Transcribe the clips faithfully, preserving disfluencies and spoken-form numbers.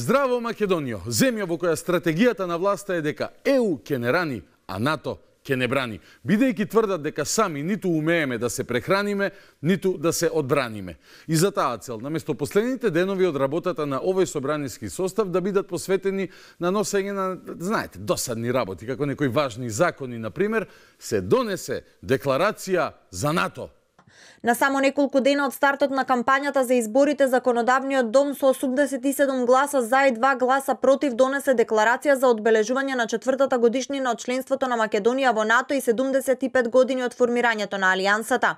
Здраво Македонијо, земја во која стратегијата на власта е дека Е У ќе не рани, а НАТО ќе не брани, бидејќи тврдат дека сами ниту умееме да се прехраниме, ниту да се одбраниме. И за таа цел, наместо последните денови од работата на овој собраниски состав да бидат посветени на носење на, знаете, досадни работи, како некои важни закони, например, се донесе декларација за НАТО. На само неколку дена од стартот на кампањата за изборите, Законодавниот дом со осумдесет и седум гласа за и два гласа против донесе декларација за одбележување на четвртата годишнина од членството на Македонија во НАТО и седумдесет и пет години од формирањето на Алијансата.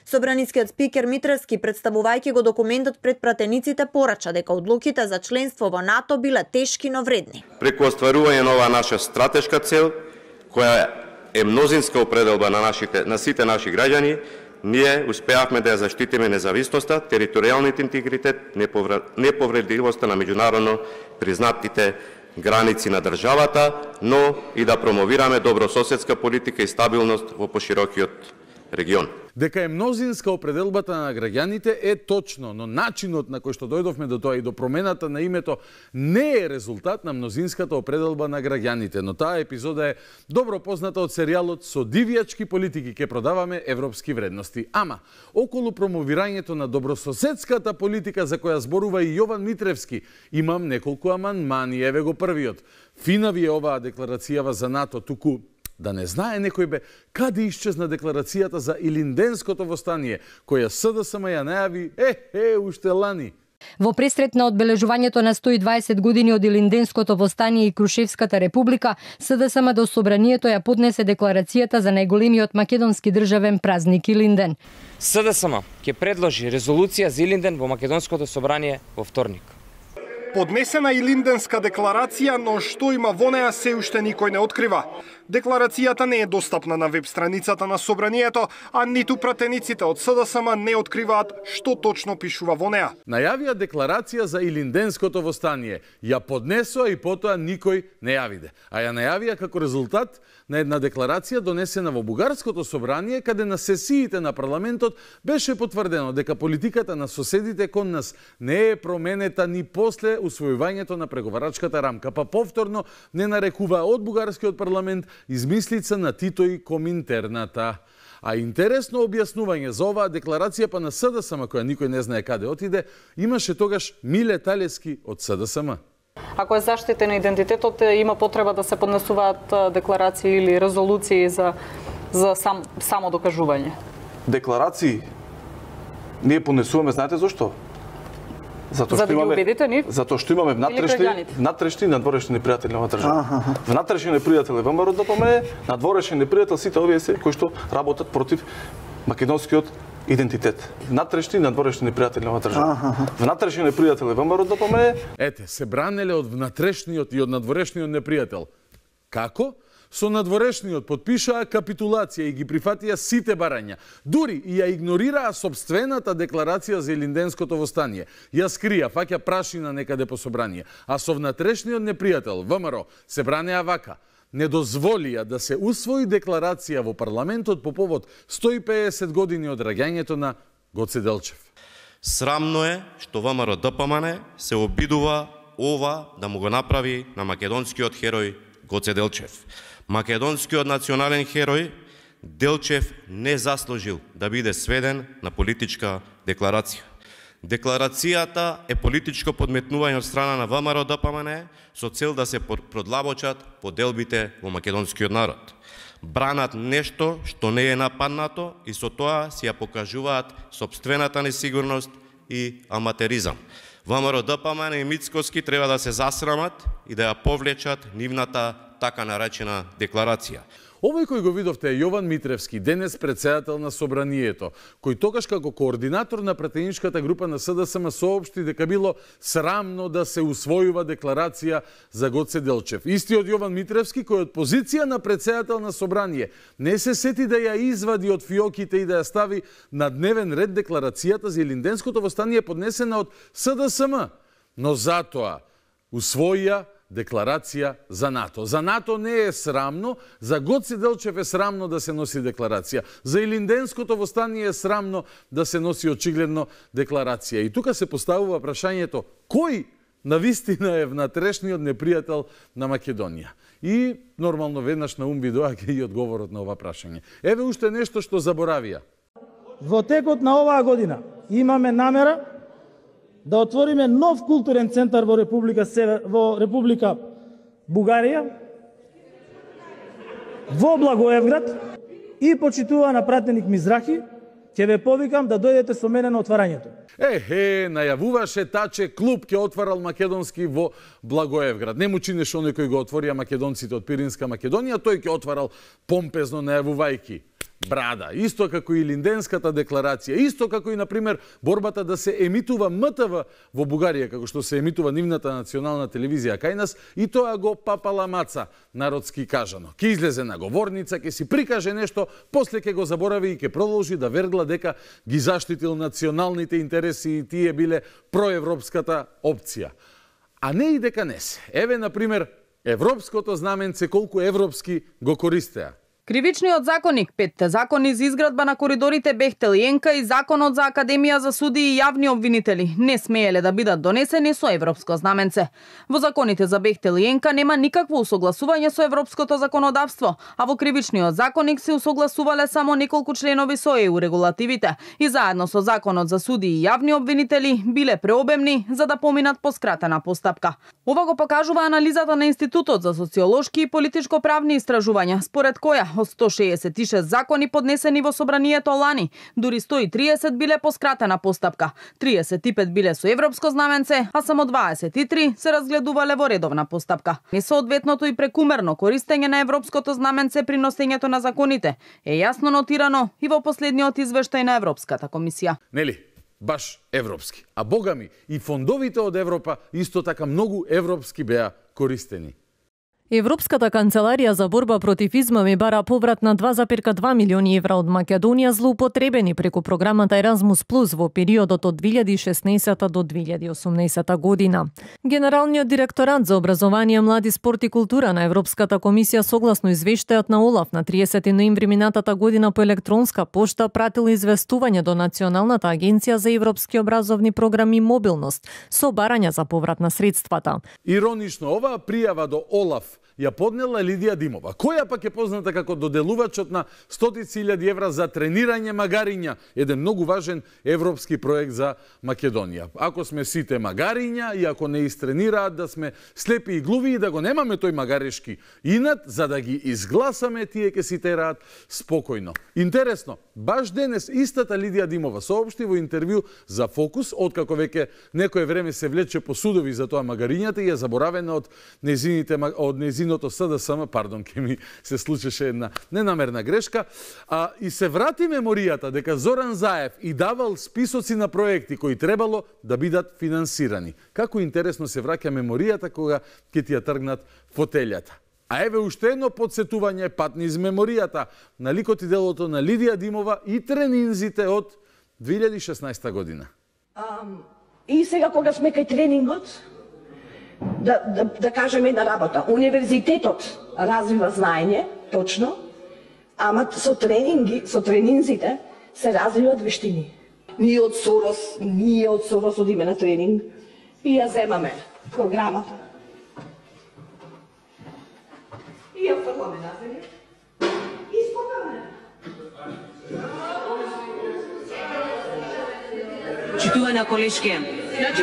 Собранискиот спикер Митревски, представувајќи го документот пред пратениците, порача дека одлуките за членство во НАТО биле тешки, но вредни. Преку остварување на оваа наша стратешка цел, која е мнозинска определба на нашите на сите наши граѓани, ние успеавме да ја заштитиме независноста, територијалниот интегритет, неповредливоста на меѓународно признатите граници на државата, но и да промовираме добрососедска политика и стабилност во поширокиот регион. Дека е мнозинска определбата на граѓаните е точно, но начинот на кој што дојдовме до тоа и до промената на името не е резултат на мнозинската определба на граѓаните, но таа епизода е добро позната од серијалот Со дивијачки политики ке продаваме европски вредности. Ама, околу промовирањето на добрососедската политика за која зборува и Јован Митревски, имам неколку амандмани. Еве го првиот. Фина ви е оваа декларацијава за НАТО, туку да не знае некој бе каде исчезна декларацијата за Илинденското востание, која С Д С М ја најави е, е, уште лани. Во пресрет на одбележувањето на сто и дваесет години од Илинденското востание и Крушевската република, С Д С М до собранието ја поднесе декларацијата за најголемиот македонски државен празник Илинден. С Д С М ќе предложи резолуција за Илинден во македонското собрание во вторник. Поднесена Илинденска декларација, но што има во неа се уште никој не открива. Декларацијата не е достапна на веб страницата на собранието, а ниту пратениците од С Д С М не откриваат што точно пишува во неа. Најавија декларација за Илинденското востание, ја поднесоа и потоа никој не ја виде. А ја најавија како резултат на една декларација донесена во Бугарското собрание, каде на сесиите на парламентот беше потврдено дека политиката на соседите кон нас не е променета ни после усвојувањето на преговарачката рамка, па повторно не нарекува од Бугарскиот парламент измислица на Тито и Коминтерната. А интересно објаснување за оваа декларација па на С Д С М, која никој не знае каде отиде, имаше тогаш Миле Талески од С Д С М. Ако е заштитен идентитетот, има потреба да се поднесуваат декларации или резолуции за, за сам, само докажување. Декларации ние поднесуваме, знаете зашто? Затоа за што да имаме, ги убедите нив? Затоа што имаме внатрешни, внатрешни и надворешни непријатели на држава. Внатрешни непријател е Вэ М Р Д П М Е, надворешни непријател сите овие се кои што работат против македонскиот идентитет. Внатрешни и надворешни непријатели на држава. Внатрешни непријател е Вэ М Р Д П М Е. Ете, се бранеле од внатрешниот и од надворешниот непријател. Како? Со надворешниот подпишаа капитулација и ги прифатија сите барања. Дури и ја игнорираа собствената декларација за Илинденското востание. Ја скрија, фаќа прашина некаде по собрание. А со внатрешниот непријател, Вэ М Р, се бранеа вака. Не дозволија да се усвои декларација во парламентот по повод сто и педесет години од раѓањето на Гоце Делчев. Срамно е што Вэ М Р Д П М Н се обидува ова да му го направи на македонскиот херој Гоце Делчев. Македонскиот национален херој Делчев не заслужил да биде сведен на политичка декларација. Декларацијата е политичко подметнување од страна на Вэ М Р Д П М Н со цел да се продлабочат поделбите во македонскиот народ. Бранат нешто што не е нападнато и со тоа си ја покажуваат сопствената несигурност и аматеризам. Вэ М Р Д П М Н и Мицкоски треба да се засрамат и да ја повлечат нивната така наречена декларација. Овој кој го видовте е Јован Митревски, денес председател на собранието, кој тогаш како координатор на пратеничката група на С Д С М соопшти дека било срамно да се усвојува декларација за Гоце Делчев. Истиот Јован Митревски, кој од позиција на председател на собрание не се сети да ја извади од фиоките и да ја стави на дневен ред декларацијата за Илинденското востание поднесена од С Д С М, но затоа усвоија декларација за НАТО. За НАТО не е срамно, за Гоце Делчев е срамно да се носи декларација. За Илинденското востание е срамно да се носи очигледно декларација. И тука се поставува прашањето кој навистина е внатрешниот непријател на Македонија. И нормално веднаш на ум ви доаѓа и одговорот на ова прашање. Еве уште нешто што заборавија. Во текот на оваа година имаме намера да отвориме нов културен центар во Република Север, во Република Бугарија, во Благоевград, и почитувана пратеник Мизрахи, ќе ве повикам да дојдете со мене на отварањето. Ехе, најавуваше Таче клуб ќе отварал македонски во Благоевград. Не му чинеше оној кој го отворија македонците од Пиринска Македонија, тој ќе отварал помпезно најавувајки брада, исто како и Илинденската декларација, исто како и, например, борбата да се емитува М Т В во Бугарија, како што се емитува нивната национална телевизија кај нас, и тоа го папала маца, народски кажано. Ке излезе на говорница, ке си прикаже нешто, после ке го заборави и ке продолжи да вергла дека ги заштитил националните интереси и тие биле проевропската опција. А не и дека не се. Еве, например, европското знаменце колку европски го користеа. Кривичниот законник, петте закони за изградба на коридорите Бехтел и Енка и законот за Академија за судии и јавни обвинители не смееле да бидат донесени со европско знаменце. Во законите за Бехтел и Енка нема никакво усогласување со европското законодавство, а во Кривичниот законник се усогласувале само неколку членови со Е У регулативите и заедно со законот за судии и јавни обвинители биле преобемни за да поминат по скратена постапка. Ова го покажува анализата на Институтот за социолошки и политичко-правни истражувања, според која од сто шеесет и шест закони поднесени во собранието лани, дури сто и триесет биле по скратена постапка, триесет и пет биле со европско знаменце, а само дваесет и три се разгледувале во редовна постапка. Несоодветното и прекумерно користење на европското знаменце при носењето на законите е јасно нотирано и во последниот извештај на Европската комисија. Нели? Баш европски. А богами и фондовите од Европа исто така многу европски беа користени. Европската канцеларија за борба против измами бара поврат на два зарез два милиони евра од Македонија злоупотребени преку програмата Еразмус Плюс во периодот од две илјади и шеснаесета до две илјади и осумнаесета година. Генералниот директорат за образование, млади, спорт и култура на Европската комисија согласно извештајот на ОЛАФ на триесети ноември минатата година по електронска пошта пратил известување до Националната агенција за европски образовни програми и мобилност со барања за поврат на средствата. Иронично, оваа пријава до ОЛАФ ја поднела Лидија Димова, која пак е позната како доделувачот на стотици илјади евра за тренирање магариња, еден многу важен европски проект за Македонија. Ако сме сите магариња и ако не истренираат да сме слепи и глуви и да го немаме тој магарешки инат, за да ги изгласаме, тие ке си тераат спокојно. Интересно, баш денес истата Лидија Димова соопшти во интервју за Фокус, откако веќе некое време се влече по судови за тоа магарињата и е заборавена од незините од незините Синото С Д С М, пардон, ке ми се случеше една ненамерна грешка, а, и се врати меморијата дека Зоран Заев и давал списоци на проекти кои требало да бидат финансирани. Како интересно се враќа меморијата кога ќе ти ја тргнат фотелјата. А еве уште едно подсетување пат низ меморијата на ликот и делото на Лидија Димова и тренинзите од две илјади и шеснаесета година. Um, и сега кога сме кај тренингот, Да, да, да кажем една работа. Универзитетот развива знаење, точно, ама со тренинги, со тренинзите се развиваат вештини. Ние од Сорос, ние од Сорос одиме на тренинг и ја земаме програмата. И ја фрламе на земја. И спогаме. Почитувана колешке. Значи,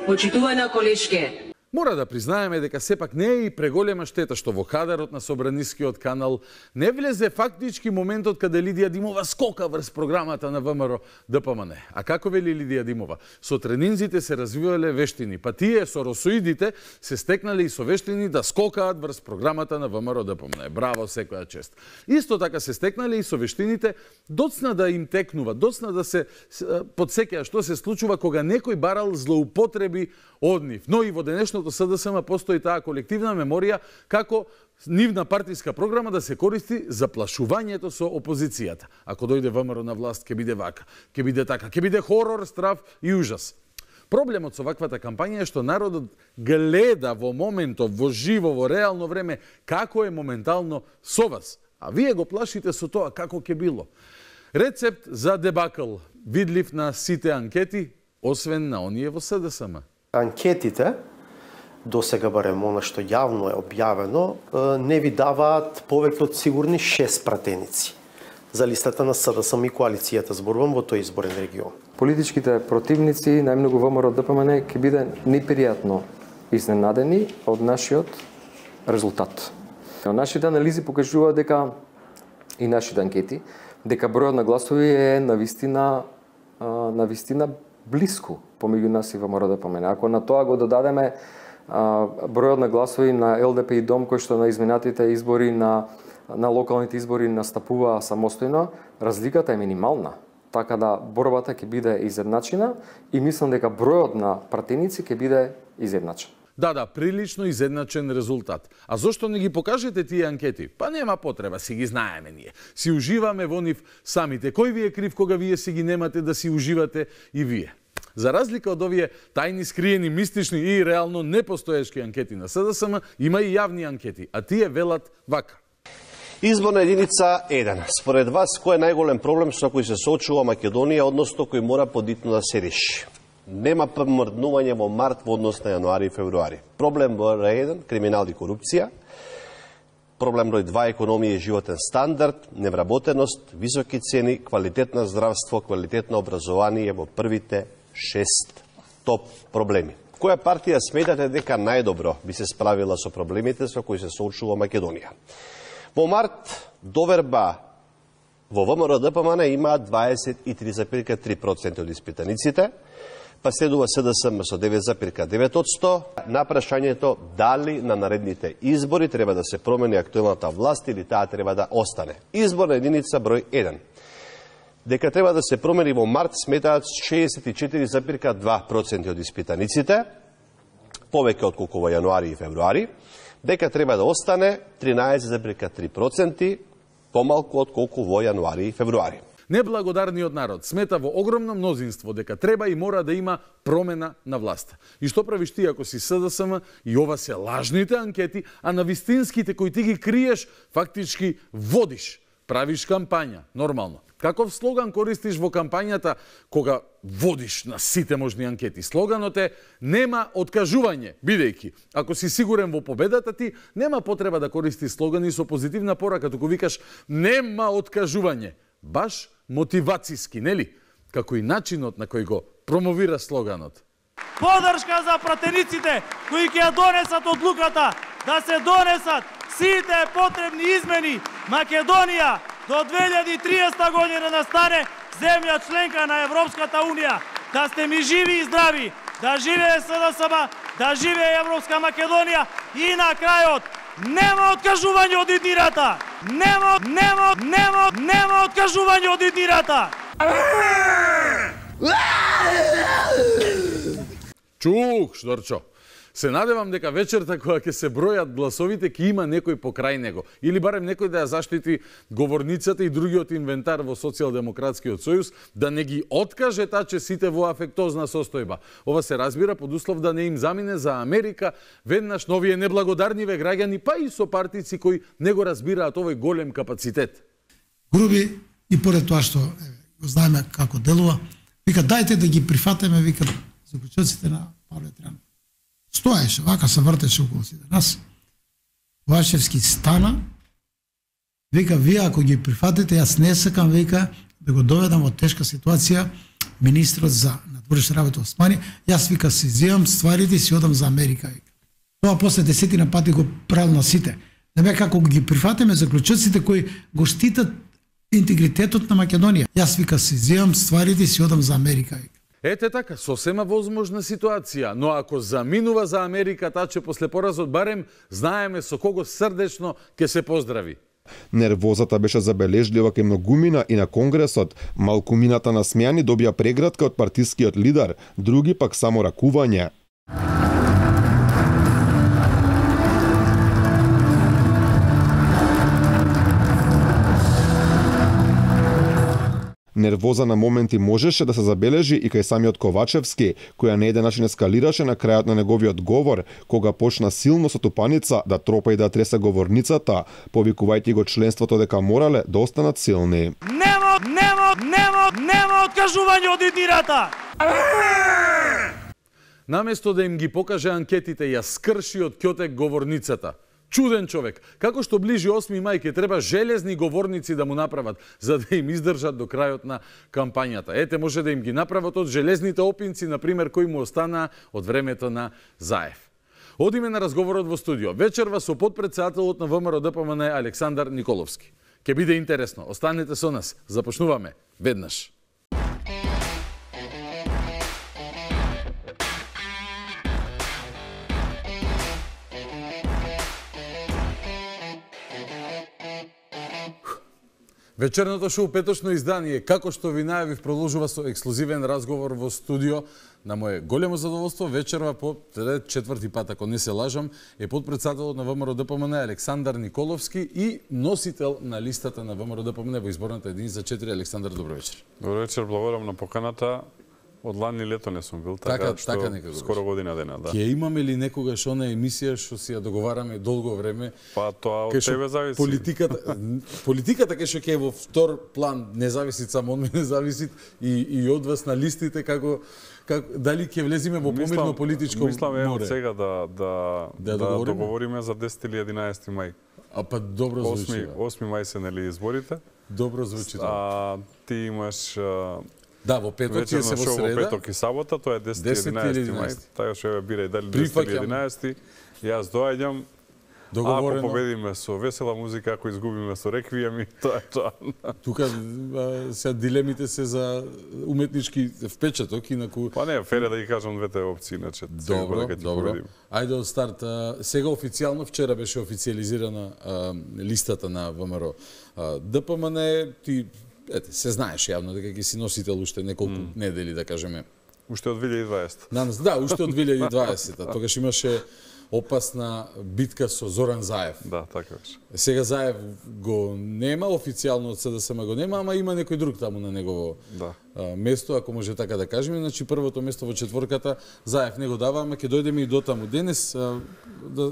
почитувана колешке. Мора да признаеме дека сепак не е и преголема штета што во кадарот на Собранискиот канал не влезе фактички моментот каде Лидија Димова скока врз програмата на В М Р Д П М Н. А како вели Лидија Димова? Со тренинзите се развивале вештини, па тие соросоидите се стекнале и со вештини да скокаат врз програмата на В М Р Д П М Н. Браво, секоја чест. Исто така се стекнале и со вештините доцна да им текнува, доцна да се подсеќа што се случува кога некој барал злоупотреби од нив. Но и во денешното С Д С М постои таа колективна меморија како нивна партиска програма да се користи за плашувањето со опозицијата. Ако дојде В М Р на власт, ќе биде вака, ќе биде така, ќе биде хорор, страв и ужас. Проблемот со ваквата кампања е што народот гледа во моментов, во живо, во реално време, како е моментално со вас. А вие го плашите со тоа како ќе било. Рецепт за дебакл, видлив на сите анкети, освен на оние во С Д С М. Анкетите, до сега барем она што јавно е објавено, не ви даваат повеќе од сигурни шест пратеници за листата на СДСМ и коалицијата, зборувам во тој изборен регион. Политичките противници, најмногу ВМРО-ДПМН, ќе биде непријатно изненадени од нашиот резултат. Нашите анализи покажуваат дека и нашите анкети дека бројот на гласови е навистина навистина блиску помеѓу нас и ВМРО-ДПМН. Ако на тоа го додадеме бројот на гласови на ЛДП и ДОМ кои што на изминатите избори на на локалните избори настапува самостојно, разликата е минимална. Така да борбата ќе биде изедначена и мислам дека бројот на пратеници ќе биде изедначен. Да, да, прилично изедначен резултат. А зошто не ги покажете тие анкети? Па нема потреба, си ги знаеме ние. Си уживаме во нив самите. Кој ви е крив кога вие си ги немате да си уживате и вие? За разлика од овие тајни, скриени, мистични и реално непостоешки анкети на СДСМ, има и јавни анкети, а тие велат вака. Изборна единица еден. Според вас, кој е најголем проблем со кој се соочува Македонија, односно кој мора подитно да се реши? Нема помрднување во март во однос на јануари и февруари. Проблем број еден, криминал и корупција. Проблем број два, економија и животен стандард, невработеност, високи цени, квалитетно здравство, квалитетно образование во првите шест топ проблеми. Која партија сметате дека најдобро би се справила со проблемите со кои се соочува Македонија? Во март доверба во ВМРО-ДПМН има дваесет и три зарез и три проценти од испитаниците, па следува СДСМ со девет зарез и девет одсто. На прашањето дали на наредните избори треба да се промени актуелната власт или таа треба да остане. Изборна единица број еден. Дека треба да се промени во март сметаат шеесет и четири зарез и два проценти од испитаниците, повеќе од колку во јануари и февруари. Дека треба да остане тринаесет зарез и три проценти, помалку од колку во јануари и февруари. Неблагодарниот народ смета во огромно мнозинство дека треба и мора да има промена на власта. И што правиш ти ако си СДСМ и ова се лажните анкети, а на вистинските кои ти ги криеш, фактички водиш, правиш кампања, нормално. Каков слоган користиш во кампањата кога водиш на сите можни анкети? Слоганот е нема откажување, бидејќи ако си сигурен во победата ти, нема потреба да користиш слогани со позитивна порака, туку викаш нема откажување. Баш мотивацијски, нели? Како и начинот на кој го промовира слоганот. Подршка за пратениците кои ќе ја донесат одлуката да се донесат сите потребни измени. Македонија до две илјади и триесета година да стане земја членка на Европската унија. Да сте ми живи и здрави, да живее СДСМ, да живее Европска Македонија и на крајот нема откажување од иднирата. Нема, нема, нема, нема откажување од иднирата. Чух, Шторчо. Се надевам дека вечерта кога ќе се бројат гласовите ќе има некој покрај него или барем некој да ја заштити говорницата и другиот инвентар во Социјалдемократскиот сојуз, да не ги откаже таче сите во афектозна состојба. Ова се разбира под услов да не им замине за Америка веднаш новие неблагодарниве граѓани, па и со партици кои не го разбираат овој голем капацитет. Груби и поред тоа што го знаеме како делува, вика дајте да ги прифатеме, вика заклучоците на Павле Тријанов. Стоеше, вака се вртеше околу сите нас. Вашевски стана, вика, вие ако ги прифатите, јас не сакам, вика, да го доведам во тешка ситуација министрот за надворешни работи Османи, јас, вика, си земам стварите и си одам за Америка, вика. Тоа после десетина пати го правил на сите. Не бе како ги прифатиме заклучоците кои го штитат интегритетот на Македонија. Јас, вика, си земам стварите и си одам за Америка, вика. Ете така, сосема возможна ситуација, но ако заминува за Америка, таче после поразот барем знаеме со кого срдечно ќе се поздрави. Нервозата беше забележлива кај многумина и на Конгресот. Малкумината на смејани добија преградка од партискиот лидер, други пак само ракување. Нервоза на моменти можеше да се забележи и кај самиот Ковачевски, која на еден начин ескалираше на крајот на неговиот говор, кога почна силно со тупаница да тропа и да тресе говорницата, повикувајќи го членството дека морале да останат силни. Нема, нема, нема, нема откажување од иднирата! Наместо да им ги покаже анкетите, ја скрши од ќотек говорницата. Чуден човек. Како што ближи осми мај ќе треба железни говорници да му направат, за да им издржат до крајот на кампањата. Ете, може да им ги направат од железните опинци, например, кои му останаа од времето на Заев. Одиме на разговорот во студио. Вечерва со подпредседателот на ВМРО Д П М Н Александар Николовски. Ке биде интересно. Останете со нас. Започнуваме веднаш. Вечерното шоу петочно издание, како што ви најавив, продолжува со ексклузивен разговор во студио. На мое големо задоволство, вечерва по четврти пат, ако не се лажам, е подпредседателот на ВМРО Д П М Н Александар Николовски и носител на листата на ВМРО Д П М Н во изборната единица за четири. Александар, добро вечер. Добро вечер, благодарам на поканата. Од лани лето не сум бил, така, така што така некако скоро година дена, да. Ќе имаме ли некогаш она емисија што си ја договараме долго време? Па тоа од тебе зависи. Политиката, политиката кај што ќе во втор план не зависи само од мене, зависи и и од вас на листите, како како дали ќе влеземе во помирно политичко море. Мислам е сега да да да, да договориме? договориме за десети или единаесети мај. А па добро звучи. осми мај се нели изборите? Добро звучи тоа. А ти имаш да, во петок ќе се во среда. Во петок и сабота, тоа е десети и единаесети мај. Така што ја бирај дали десети или единаесети. Јас доаѓам. Договорено. Ако победиме со весела музика, ако изгубиме со реквиеми, тоа е тоа. Тука се дилемите се за уметнички впечаток, инаку... Па не, фере да ги кажам двете опции, иначе добро, добро. Ајде од старт. Сега официјално, вчера беше официализирана а, листата на ВМРО Д П М Н. Ти ете, се знаеш јавно дека ќе си носител уште неколку mm. недели, да кажеме. Уште од две илјади и дваесета. На, да, уште од две илјади и дваесета. Тогаш имаше опасна битка со Зоран Заев. Да, така беше. Сега Заев го нема, официјално од С Д С М го нема, ама има некој друг таму на негово да. а, место, ако може така да кажеме. Значи првото место во четворката Заев не го дава, ама ќе дојдеме и до таму. Денес а, да,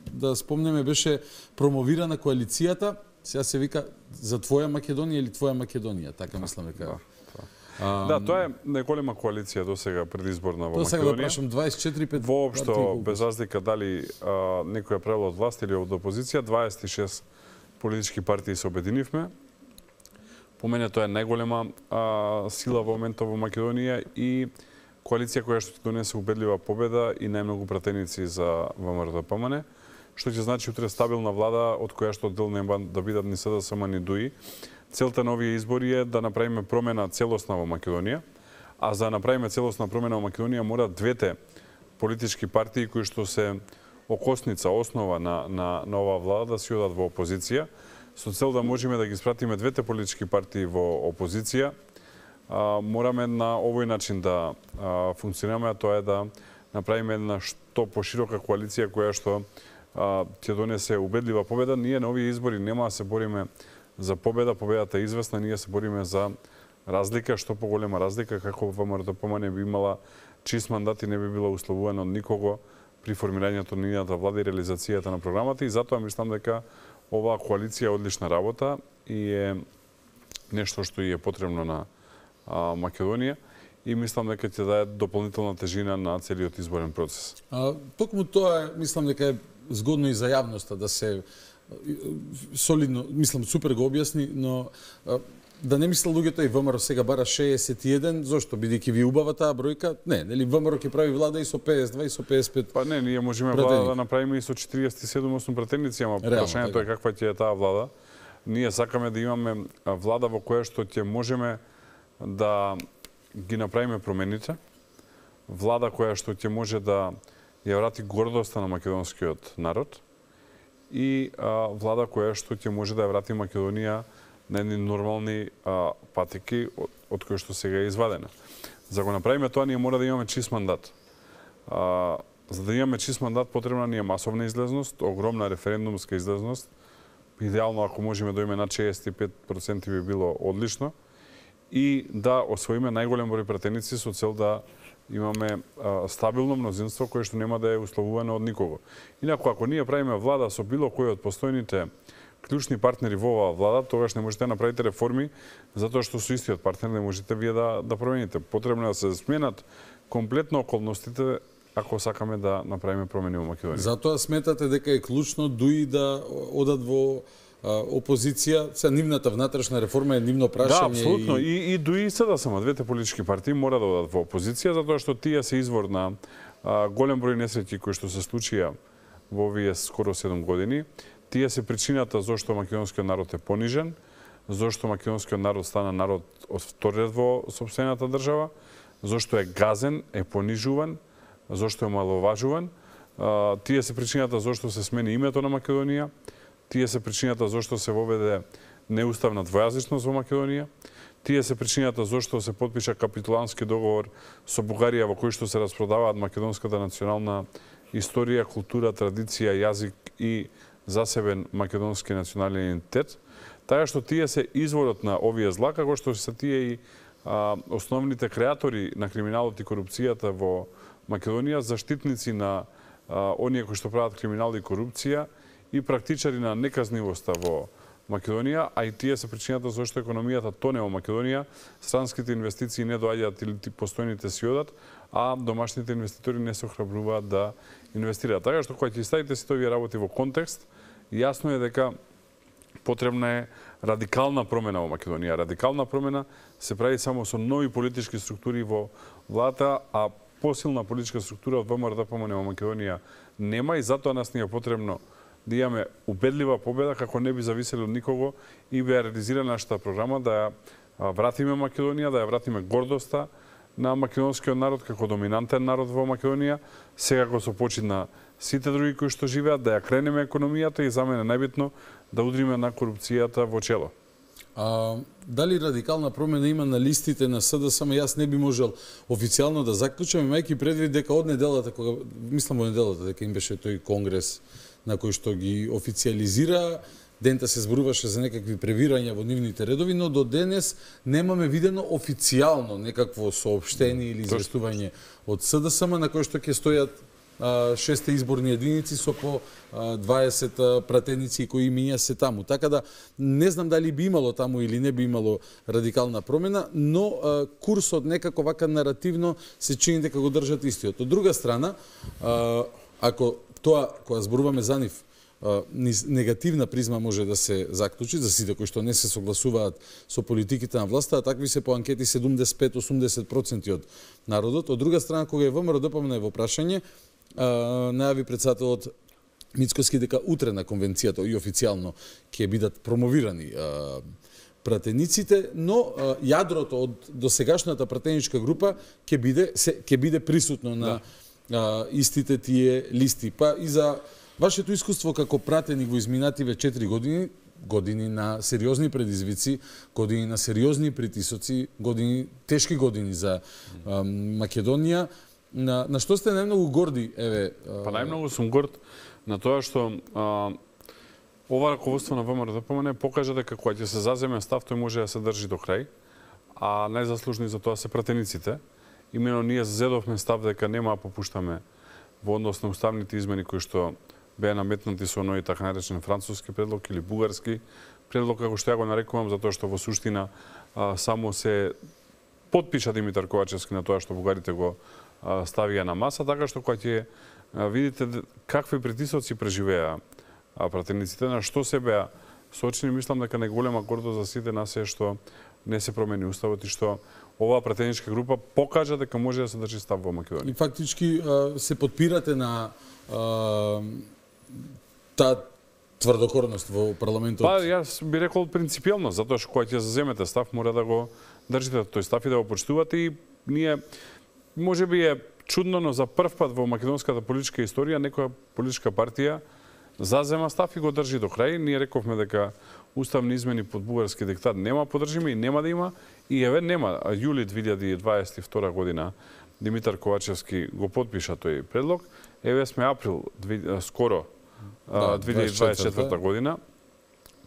да спомнеме беше промовирана коалицијата. Сега се вика за твоја Македонија или твоја Македонија, така мислам дека. Да, тоа. А, да, тоа е неголема коалиција до сега предизборна во Македонија. Тоа сега да прашам дваесет и четири пет. Воопшто без разлика дали а, некој е правил од власт или од опозиција, дваесет и шест политички партии се обединивме. По мене тоа е најголема а, сила во моментот во Македонија и коалиција која што ќе донесе убедлива победа и најмногу пратеници за ВМРО Д П М Н. Што ќе значи утре стабилна влада од која што дел нема да бидат ни С Д С М ни ДУИ. Целта на овие избори е да направиме промена целосна во Македонија, а за да направиме целосна промена во Македонија мора двете политички партии кои што се окосница, основа на на на оваа влада да си одат во опозиција, со цел да можеме да ги спратиме двете политички партии во опозиција. А, мораме на овој начин да а, функционираме, а тоа е да направиме една што поширока коалиција која што ќе донесе убедлива победа. Ние на овие избори нема да се бориме за победа, победата е известна, ние се бориме за разлика, што поголема разлика, како ВМРО Д П М Н би имала чист мандат и не би била условувана од никого при формирањето на нивната влада и реализацијата на програмата, и затоа мислам дека оваа коалиција е одлична работа и е нешто што и е потребно на а, Македонија, и мислам дека ќе даде дополнителна тежина на целиот изборен процес. А, токму тоа е, мислам дека е згодно и за јавноста да се солидно, мислам, супер го објасни, но а, да не мисла луѓето и ВМРО сега бара шеесет и еден, зошто бидејќи ви убава таа бројка? Не, нели ВМРО ќе прави влада и со пеесет и два и со пеесет и пет. Па не, ние можеме влада да направиме и со четириесет и седум осум пратеници, ама прашањето е каква ќе е таа влада. Ние сакаме да имаме влада во која што ќе можеме да ги направиме промените, влада која што ќе може да ја врати гордоста на македонскиот народ и а, влада која што ќе може да ја врати Македонија на едни нормални а, патеки од, од кои што сега е извадена. За да го направиме тоа, ние мора да имаме чист мандат. А, за да имаме чист мандат, потребна ни е масовна излезност, огромна референдумска излезност. Идеално, ако можеме да имаме над шеесет и пет проценти би било одлично. И да освоиме најголем број пратеници со цел да имаме а, стабилно мнозинство кое што нема да е условувано од никого. Инаку, ако ние правиме влада со било кој од постојните клучни партнери во оваа влада, тогаш не можете да направите реформи, затоа што со истиот партнер не можете вие да, да промените. Потребно е да се сменат комплетно околностите ако сакаме да направиме промени во Македонија. Затоа сметате дека е клучно дуи да одат во опозиција, се нивната внатрешна реформа е нивно прашање. Да, апсолутно. И, и, и дуи СДСМ, двете политички партии мора да одат во опозиција, затоа што тие се извор на а, голем број несреќи кои што се случија во овие скоро седум години. Тие се причината зошто македонскиот народ е понижен, зошто македонскиот народ стана народ од втори ред во сопствената држава, зошто е газен, е понижуван, зошто е маловажуван. А, тие се причината зошто се смени името на Македонија. Тие се причината зошто се воведе неуставна двојазичност во Македонија. Тие се причината зошто се потпиша капитулански договор со Бугарија во кој што се распродаваат македонската национална историја, култура, традиција, јазик и засебен македонски национален идентитет. Така што тие се изворот на овие зла, како што се тие и а, основните креатори на криминалот и корупцијата во Македонија, заштитници на а, оние кои што прават криминал и корупција, и практичари на неказнивоста во Македонија, а и тие се причината зашто економијата тоне во Македонија, странските инвестиции не доаѓаат или постојните си одат, а домашните инвеститори не се охрабруваат да инвестираат. Така што кога ќе ставите сите овие работи во контекст, јасно е дека потребна е радикална промена во Македонија. Радикална промена се прави само со нови политички структури во владата, а посилна политичка структура од ВМРО-ДПМН во Македонија нема, и затоа нас ни е потребно да имаме убедлива победа, како не би зависели од никого, и би ја реализира нашата програма да ја вратиме Македонија, да ја вратиме гордоста на македонскиот народ како доминантен народ во Македонија, секако со почит на сите други кои што живеат, да ја кренеме економијата и за мене најбитно да удриме на корупцијата во чело. А, дали радикална промена има на листите на СДСМ? Јас не би можел официјално да заклучам, имајќи предвид дека од неделата, кога мислам во неделата дека им беше тој конгрес на кој што ги официализира, дента се зборуваше за некакви превирања во нивните редови, но до денес немаме видено официјално некакво соопштение или известување од СДСМ на кој што ќе стојат а, шесте изборни единици со по а, дваесет пратеници кои миња се таму. Така да не знам дали би имало таму или не би имало радикална промена, но а, курсот некако вака наративно се чини дека го држат истиот. Од друга страна, а, ако тоа, кога зборуваме за нив, низ негативна призма може да се заклучи за сите кои што не се согласуваат со политиките на власта, а такви се по анкети седумдесет и пет до осумдесет проценти од народот. Од друга страна, кога е ВМРО-ДПМН во прашање, најави председателот Мицкоски дека утре на конвенцијата и официјално ќе бидат промовирани пратениците, но јадрото од досегашната пратеничка група ќе биде ќе биде присутно на да. истите тие листи. Па и за вашето искуство како пратеник во изминативе четири години, години на сериозни предизвици, години на сериозни притисоци, години тешки години за а, Македонија, на, на што сте најмногу горди? Еве, а... Па најмногу сум горд на тоа што а, ова раководство на ВМРО-ДПМН покажа дека кога ќе се заземе став, тој може да се држи до крај, а најзаслужни за тоа се пратениците. Имено ние зазедовме став дека нема да попуштаме во однос на уставните измени кои што беа наметнати со оној така наречен француски предлог или бугарски предлог, како што ја го нарекувам, затоа што во суштина а, само се потпиша Димитар Ковачевски на тоа што бугарите го а, ставија на маса, така што кога ќе видите какви притисоци преживеа а, пратениците, на што се беа сочени, мислам дека најголема гордост за сите нас е што не се промени уставот и што оваа пратеничка група покажа дека може да се држи став во Македонија. И фактички се подпирате на а, таа тврдокорност во парламентот? Па, јас би рекол принципиелно, затоа што кога ќе заземете став, мора да го држите тој став и да го почитувате, и ние, може би е чудно, но за прв пат во македонската политичка историја некоја политичка партија зазема став и го држи до крај. Ние рековме дека уставни измени под бугарски диктат нема поддржиме и нема да има, и еве нема. Јули две илјади дваесет и втора година Димитар Ковачевски го потпиша тој предлог. Еве сме април скоро да, две илјади дваесет и четврта година.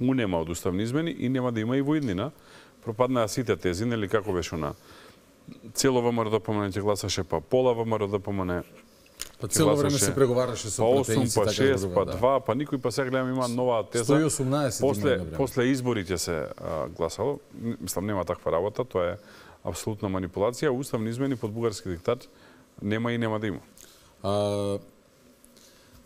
У нема од уставни измени и нема да има и во иднина. Пропаднаа сите тези, нели како беше на цело ВМРО-ДПМН ќе гласаше, па пола ВМРО-ДПМН. Па цело време се преговараше со пратеници, па така шест, па два, па никој, па сега гледам има нова теза. сто и осумнаесет после после изборите се а, гласало. Мислам нема таква работа, тоа е апсолутна манипулација. Уставни измени под бугарски диктат нема и нема да има. А,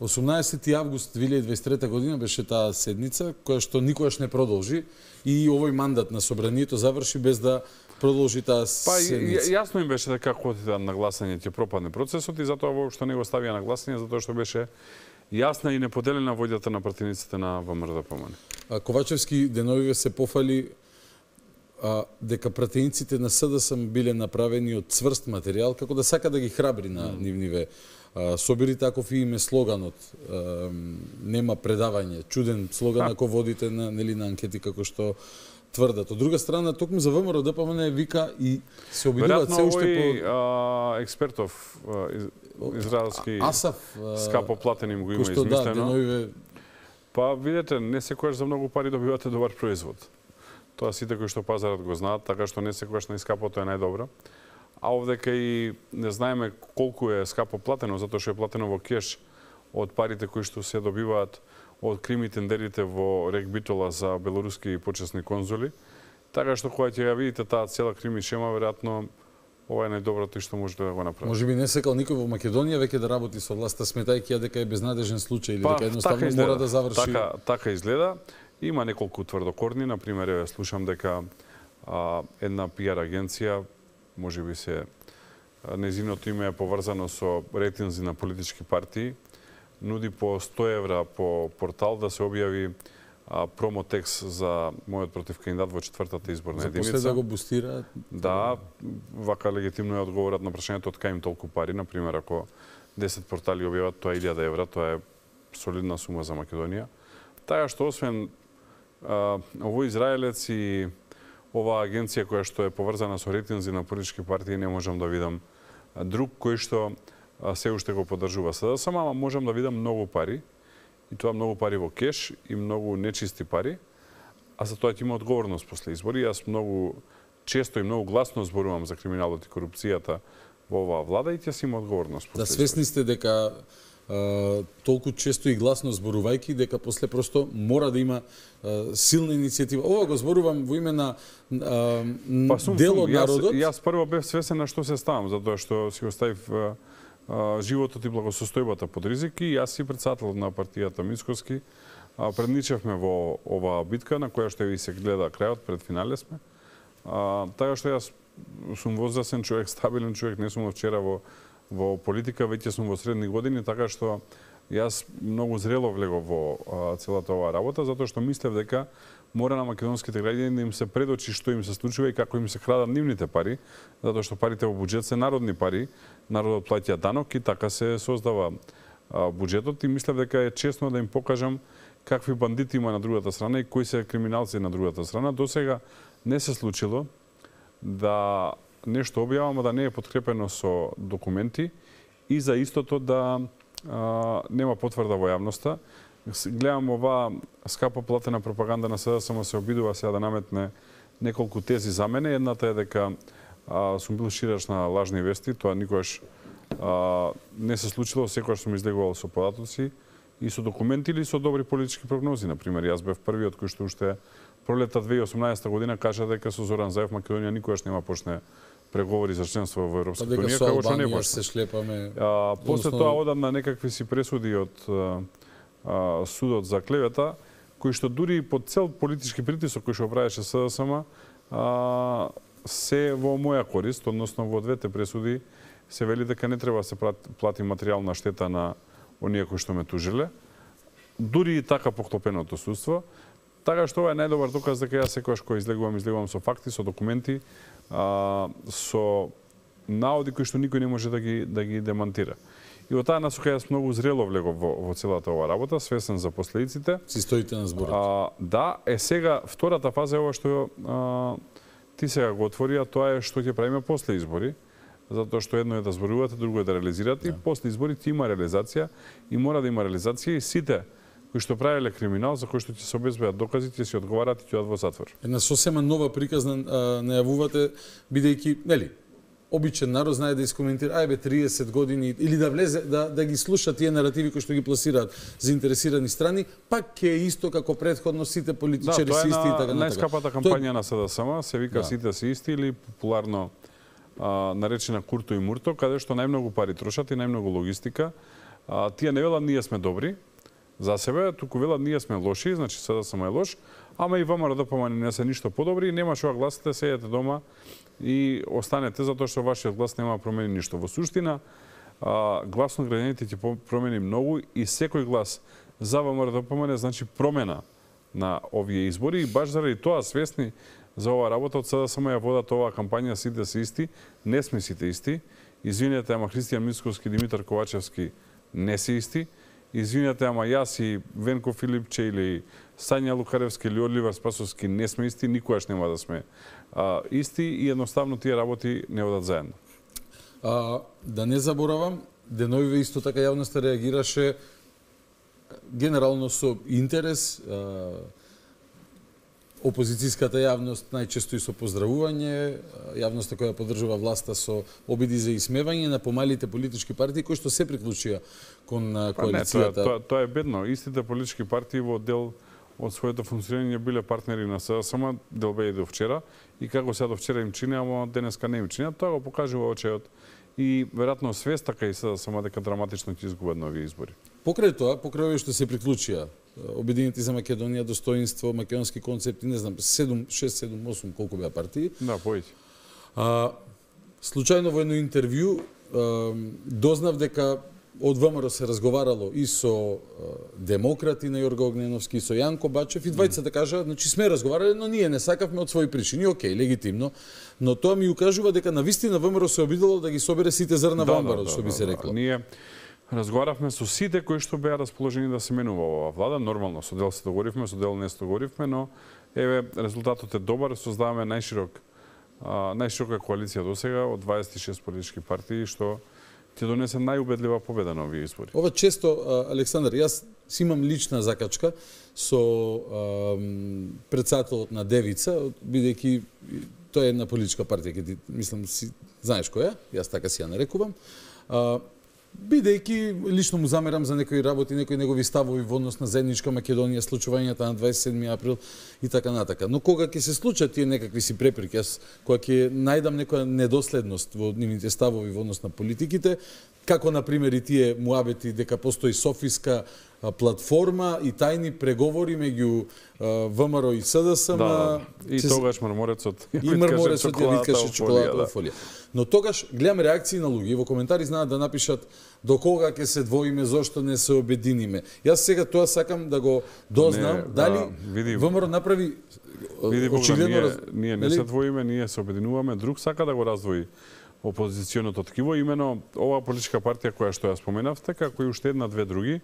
осумнаесети август две илјади и дваесет и трета година беше таа седница која што никогаш не продолжи и овој мандат на собранието заврши без да продолжи таа седница. Па јасно им беше дека како отида на гласање ќе пропадне процесот и затоа воопшто не го ставија на гласање затоа што беше јасна и неподелена војдата на партиниците на ВМРО-ДПМН. Ковачевски деновиве се пофали а, дека пратениците на СДСМ биле направени од цврст материјал, како да сака да ги храбри на mm. нивниве а, собери, таков и име слоганот. А, нема предавање. Чуден слоган ако водите на, нели, на анкети како што тврдат. Од друга страна, токму за ВМРО-ДПМН вика и се обидуваат се уште по... Веројатно експертов из, израелски Асаф скапо платен им го има измислено. Да, деновиве... Па видете, не секогаш за многу пари добивате добар производ. Тоа сите кои што пазарот го знаат, така што не секогаш најскапото е најдобро. А овдека и не знаеме колку е скапо платено, затоа што е платено во кеш од парите кои што се добиваат од крими тендерите во Рек Битола за белоруски почесни конзули. Така што кога ќе ја видите таа цела крими шема, веројатно ова е најдоброто што може да го направи. Може би не сакал никој во Македонија веќе да работи со власта, сметајќи ја дека е безнадежен случај или па, дека едноставно така мора да заврши. Така, така изгледа. Има неколку тврдокорни, на пример, слушам дека а, една пиар агенција, можеби се незиното име е поврзано со рейтинзи на политички партии, нуди по сто евра по портал да се објави а, промотекст за мојот против кандидат во четвртата изборна единица. За после да го бустираат? Да, вака легитимно е одговорат на прашањето од кај им толку пари. Например, ако десет портали објават, тоа е илјада евра, тоа е солидна сума за Македонија. Така што освен а, овој израелец и оваа агенција која што е поврзана со рейтинзи на политички партии, не можам да видам друг кој што се уште го поддржува СДСМ, ама можам да видам многу пари, и тоа многу пари во кеш и многу нечисти пари, а за тоа ќе има одговорност после избори. Јас многу често и многу гласно зборувам за криминалот и корупцијата во оваа влада и ќе си има одговорност после избори. Да, свесни сте дека а, толку често и гласно зборувајќи дека после просто мора да има а, силна иницијатива. Ова го зборувам во име на а, па, сум, дел од народот. Јас, јас прво бев свесен на што се ставам, затоа што си оставив животот и благосостојбата под ризик и јас си председател на партијата Мицкоски. Предничевме во оваа битка на која што и се гледа крајот, пред финале сме. А, така што јас сум возрастен човек, стабилен човек, не сум од вчера во, во политика, веќе сум во средни години, така што јас многу зрело влегов во а, целата оваа работа, затоа што мислев дека мора на македонските граѓани да им се предочи што им се случува и како им се крадат нивните пари, затоа што парите во буџет се народни пари, народот плаќа данок и така се создава а, буџетот и мислев дека е честно да им покажам какви бандити има на другата страна и кои се криминалци на другата страна. До сега не се случило да нешто објавам, да не е подкрепено со документи и за истото да а, нема потврда во јавноста. Гледам оваа скапо платена пропаганда на СДСМ се обидува сега да наметне неколку тези за мене. Едната е дека а, сум бил ширач на лажни вести, тоа никогаш а, не се случило, секогаш сум излегувал со податоци и со документи или со добри политички прогнози. Например, јас бев првиот кој што уште пролета две илјади и осумнаесета година кажа дека со Зоран Заев Македонија никогаш нема почне преговори за членство во Европската унија, како што не се шлепаме. А, после тоа одам на некакви си пресуди од а, а, судот за клевета, кои што дури под цел политички притисок кој што правеше СДСМ, а, се во моја корист, односно во двете пресуди се вели дека не треба да се плати материјална штета на оние кои што ме тужиле. Дури и така поклопеното судство. Така што ова е најдобар доказ дека јас секогаш кој излегувам, излегувам со факти, со документи, а, со наоди кои што никој не може да ги да ги демантира. И во таа насока јас многу зрело влегов во, во целата оваа работа, свесен за последиците. Си стоите на зборот. А, да, е сега втората фаза е ова што а, ти сега го отвори, а тоа е што ќе правиме после избори. Затоа што едно е да зборувате, друго е да реализирате, да. И после изборите има реализација и мора да има реализација и сите кои што правеле криминал, за кои што ќе се обезбедат докази, ќе си одговарат и ќе одат во затвор. Една сосема нова приказна најавувате, бидејќи, нели, обичен народ знае да искоментира, ајбе триесет години или да влезе да да ги слуша тие наративи кои што ги пласираат заинтересирани страни, пак ќе е исто како претходно сите политичари да, се исти и така натака. Најскапата кампања Тоа... на СДСМ се вика да. Сите се исти или популарно а, наречена Курто и Мурто, каде што најмногу пари трошат и најмногу логистика. А, тие не велат ние сме добри за себе, туку велат ние сме лоши, значи СДСМ е лош, ама и ВМРО ДПМН не се ништо подобри и нема што гласите, седете дома и останете затоа што вашиот глас нема да промени ништо. Во суштина, а, гласно граѓаните ќе промени многу и секој глас за ВМРО ДПМН значи промена на овие избори и баш заради тоа свесни за оваа работа од СДСМ ја водат оваа кампања сите се исти, не сме сите исти. Извинете, ама Христијан Мицковски и Димитар Ковачевски не се исти. Извинете, ама јас и Венко Филипче или Сања Лукаревски или Оливер Спасовски не сме исти, никогаш нема да сме а, исти и едноставно тие работи не одат заедно. А, да не заборавам, деновиве исто така јавноста реагираше генерално со интерес, а, опозицијската јавност најчесто и со поздравување, јавноста која поддржува власта со обиди за исмевање на помалите политички партии кои што се приклучија кон коалицијата. Па не, тоа, тоа, тоа е бедно. Истите политички партии во дел од своето функционирање биле партнери на СДСМ, дел беа и до вчера, и како сега до вчера им чини, ама денеска не им чини. Тоа го покажува очеот и веројатно свест така и СДСМ дека драматично ќе изгубат на овие избори. Покрај тоа, покрај овие што се приклучија, Обединети за Македонија, Достоинство, Македонски концепти, не знам, седум, шест, седум, осум, колку беа партии. Да, поеќе. А, случајно во едно интервју а, дознав дека од ВМРО се разговарало и со а, демократи на Јорга Огненовски, и со Јанко Бачев, и двајцата да кажа, значи сме разговарале, но ние не сакавме од своји причини, окей, легитимно, но тоа ми укажува дека навистина ВМРО се обидело да ги собере сите зрна да, во амбарот, да, што да, би се да, рекло. Ние разговаравме со сите кои што беа расположени да се менува оваа влада, нормално, со дел се договоривме, со дел не се договоривме, но еве резултатот е добар, создаваме најширок а, најширока коалиција досега од дваесет и шест политички партии што ќе донесе најубедлива победа на овие избори. Ова често, Александар, јас си имам лична закачка со а, председателот на Девица, бидејќи тоа е една политичка партија, ке ти, мислам, си знаеш која, јас така си ја нарекувам. А, бидејќи лично му замерам за некои работи, некои негови ставови во однос на заедничка Македонија, случувањата на дваесет и седми април и така натака. Но кога ќе се случат тие некакви си препреки, јас кога ќе најдам некоја недоследност во нивните ставови во однос на политиките, како на пример и тие муабети дека постои софиска платформа и тајни преговори меѓу ВМРО и СДСМ. Да, и се... тогаш мрморецот и мрморецот ја виткаше чоколадата фолија. Но тогаш гледам реакции на луѓе во коментари знаат да напишат до кога ќе се двоиме, зошто не се обединиме. Јас сега тоа сакам да го дознам, не, дали да, види, ВМРО направи види, очигледно ние, ние не се двоиме, ние се обединуваме, друг сака да го раздвои опозиционото ткиво, имено оваа политичка партија која што ја споменавте, како и уште една две други,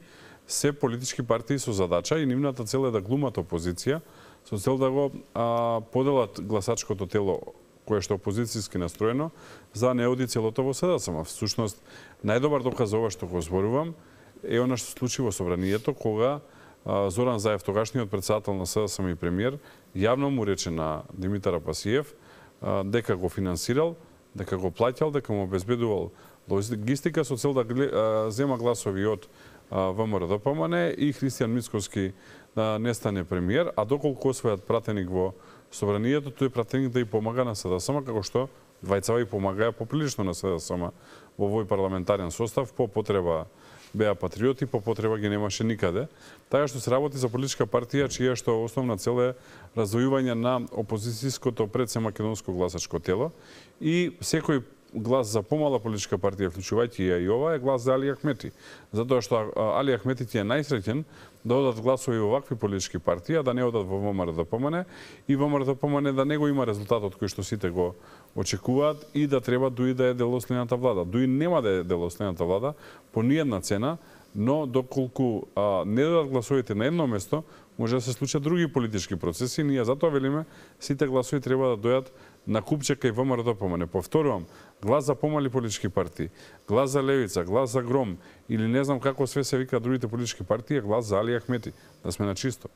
се политички партии со задача и нивната цел е да глумат опозиција, со цел да го а, поделат гласачкото тело кое што опозицијски настроено, за не оди целото во СДСМ. Всушност, најдобар доказ за ова што го зборувам е она што се случи во собранието, кога а, Зоран Заев, тогашниот председател на СДСМ и премиер, јавно му рече на Димитар Апасиев а, дека го финансирал, дека го плаќал, дека му обезбедувал логистика со цел да а, зема гласови од ВМРО ДПМН и Христијан Мицковски да не стане премиер, а доколку освојат пратеник во собранието, тој пратеник да и помага на СДСМ, како што двајцава и помагаја поприлично на СДСМ во овој парламентарен состав, по потреба беа патриоти, по потреба ги немаше никаде. Така што се работи за политичка партија чија што основна цел е раздвојување на опозицијското пред се македонско гласачко тело и секој глас за помала политичка партија, вклучувајќи ја и ова, е глас за Али Ахмети. Затоа што Али Ахмети ти е најсреќен да одат гласови во вакви политички партии, а да не одат во ВМРО ДПМН и ВМРО ДПМН да не го има резултатот кој што сите го очекуваат и да треба дуи да е делослената влада. Дуи нема да е делослената влада по ниедна цена, но доколку а, не додат гласовите на едно место, може да се случат други политички процеси. Ние затоа велиме, сите гласови треба да дојат на купче кај ВМРО ДПМН. Повторувам, глас за помали политички партии, глас за Левица, глас за Гром или не знам како све се вика другите политички партии, глас за Али Ахмети. Да сме на чисто.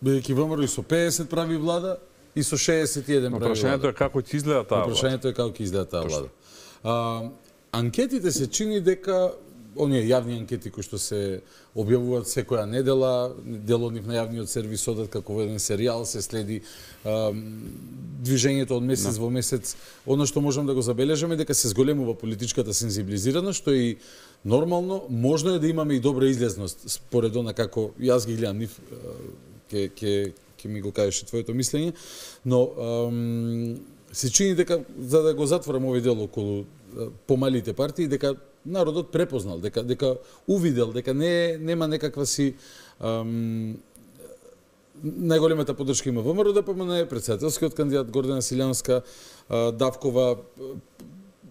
Бидејќи ВМРО и со педесет прави влада и со шеесет и еден прави влада. Прашањето е како ќе изгледа таа влада. Прашањето е како ќе изгледа таа влада. А, анкетите се чини дека оние јавни анкети кои што се објавуваат секоја недела, дел од нив на јавниот сервис одат како еден серијал, се следи а, движењето од месец no. во месец. Оно што можам да го забележаме дека се зголемува политичката сензибилизираност, што е и нормално. Можно е да имаме и добра излезност според она како јас ги гледам нив, ке ке ке ми го кажеше твоето мислење, но ам, се чини дека за да го затворам овој дел околу помалите партии, дека народот препознал, дека дека увидел дека не нема некаква си ам, најголемата поддршка има ВМРО ДПМН, претседателскиот кандидат Гордана Силјанска, Давкова,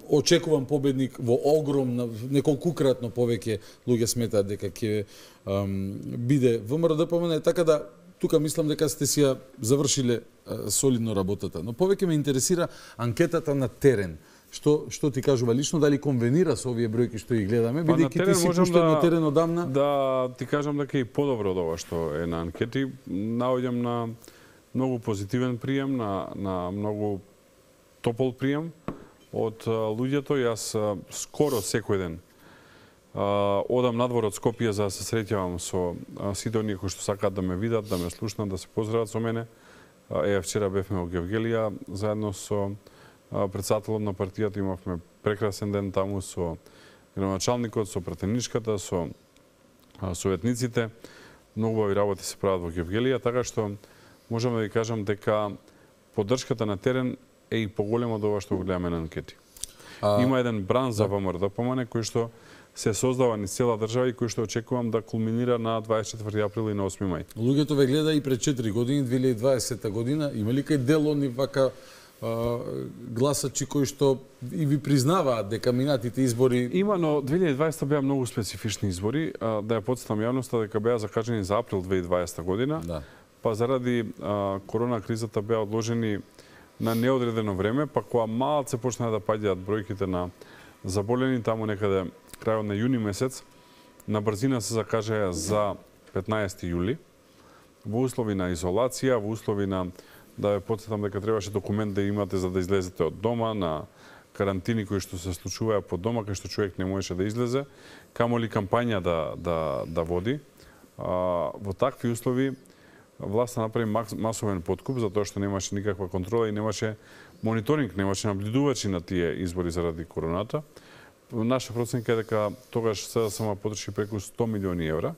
очекувам победник во огромна, неколкукратно повеќе луѓе сметаат дека ќе биде ВМРО ДПМН, така да тука мислам дека сте си ја завршиле а, солидно работата. Но повеќе ме интересира анкетата на терен. Што што ти кажува лично, дали конвенира со овие бројки што ги гледаме, бидејќи ти си пуштен да, на терен одамна? Да, ти кажам дека и подобро од ова што е на анкети. Наоѓам на многу позитивен прием, на, на многу топол прием од луѓето. Јас скоро секој ден одам надвор од Скопје за да се среќавам со сите оние кои што сакаат да ме видат, да ме слушнат, да се поздрават со мене. Е, вчера бевме во Гевгелија заедно со председателот на партијата, имавме прекрасен ден таму со градоначалникот, со пратеничката, со советниците. Многу убави работи се прават во Гевгелија, така што можам да ви кажам дека поддршката на терен е и поголема од ова што го гледаме на анкети. А... Има еден бран за ВМРО ДПМН кој што се создава низ цела држава и кој што очекувам да кулминира на дваесет и четврти април и на осми мај. Луѓето ве гледа и пред четири години, две илјади и дваесета година, има ли кај дел они вака а, гласачи кои што и ви признаваат дека минатите избори... Има, но две илјади и дваесета беа многу специфични избори, а, да ја потсетам јавноста дека беа закажани за април две илјади и дваесета година, да. Па заради а, корона кризата беа одложени на неодредено време, па кога малце почнаа да паѓаат бројките на заболени, таму некаде крајот на јуни месец, на брзина се закажаја за петнаесети јули, во услови на изолација, во услови на, да ве потсетам дека требаше документ да имате за да излезете од дома, на карантини кои што се случуваа по дома, кај што човек не можеше да излезе, камоли кампања да, да, да води. А, во такви услови власта направи масовен подкуп, затоа што немаше никаква контрола и немаше мониторинг, немаше наблюдувачи на тие избори заради короната. Наша проценка е дека тогаш СДСМ потроши преку сто милиони евра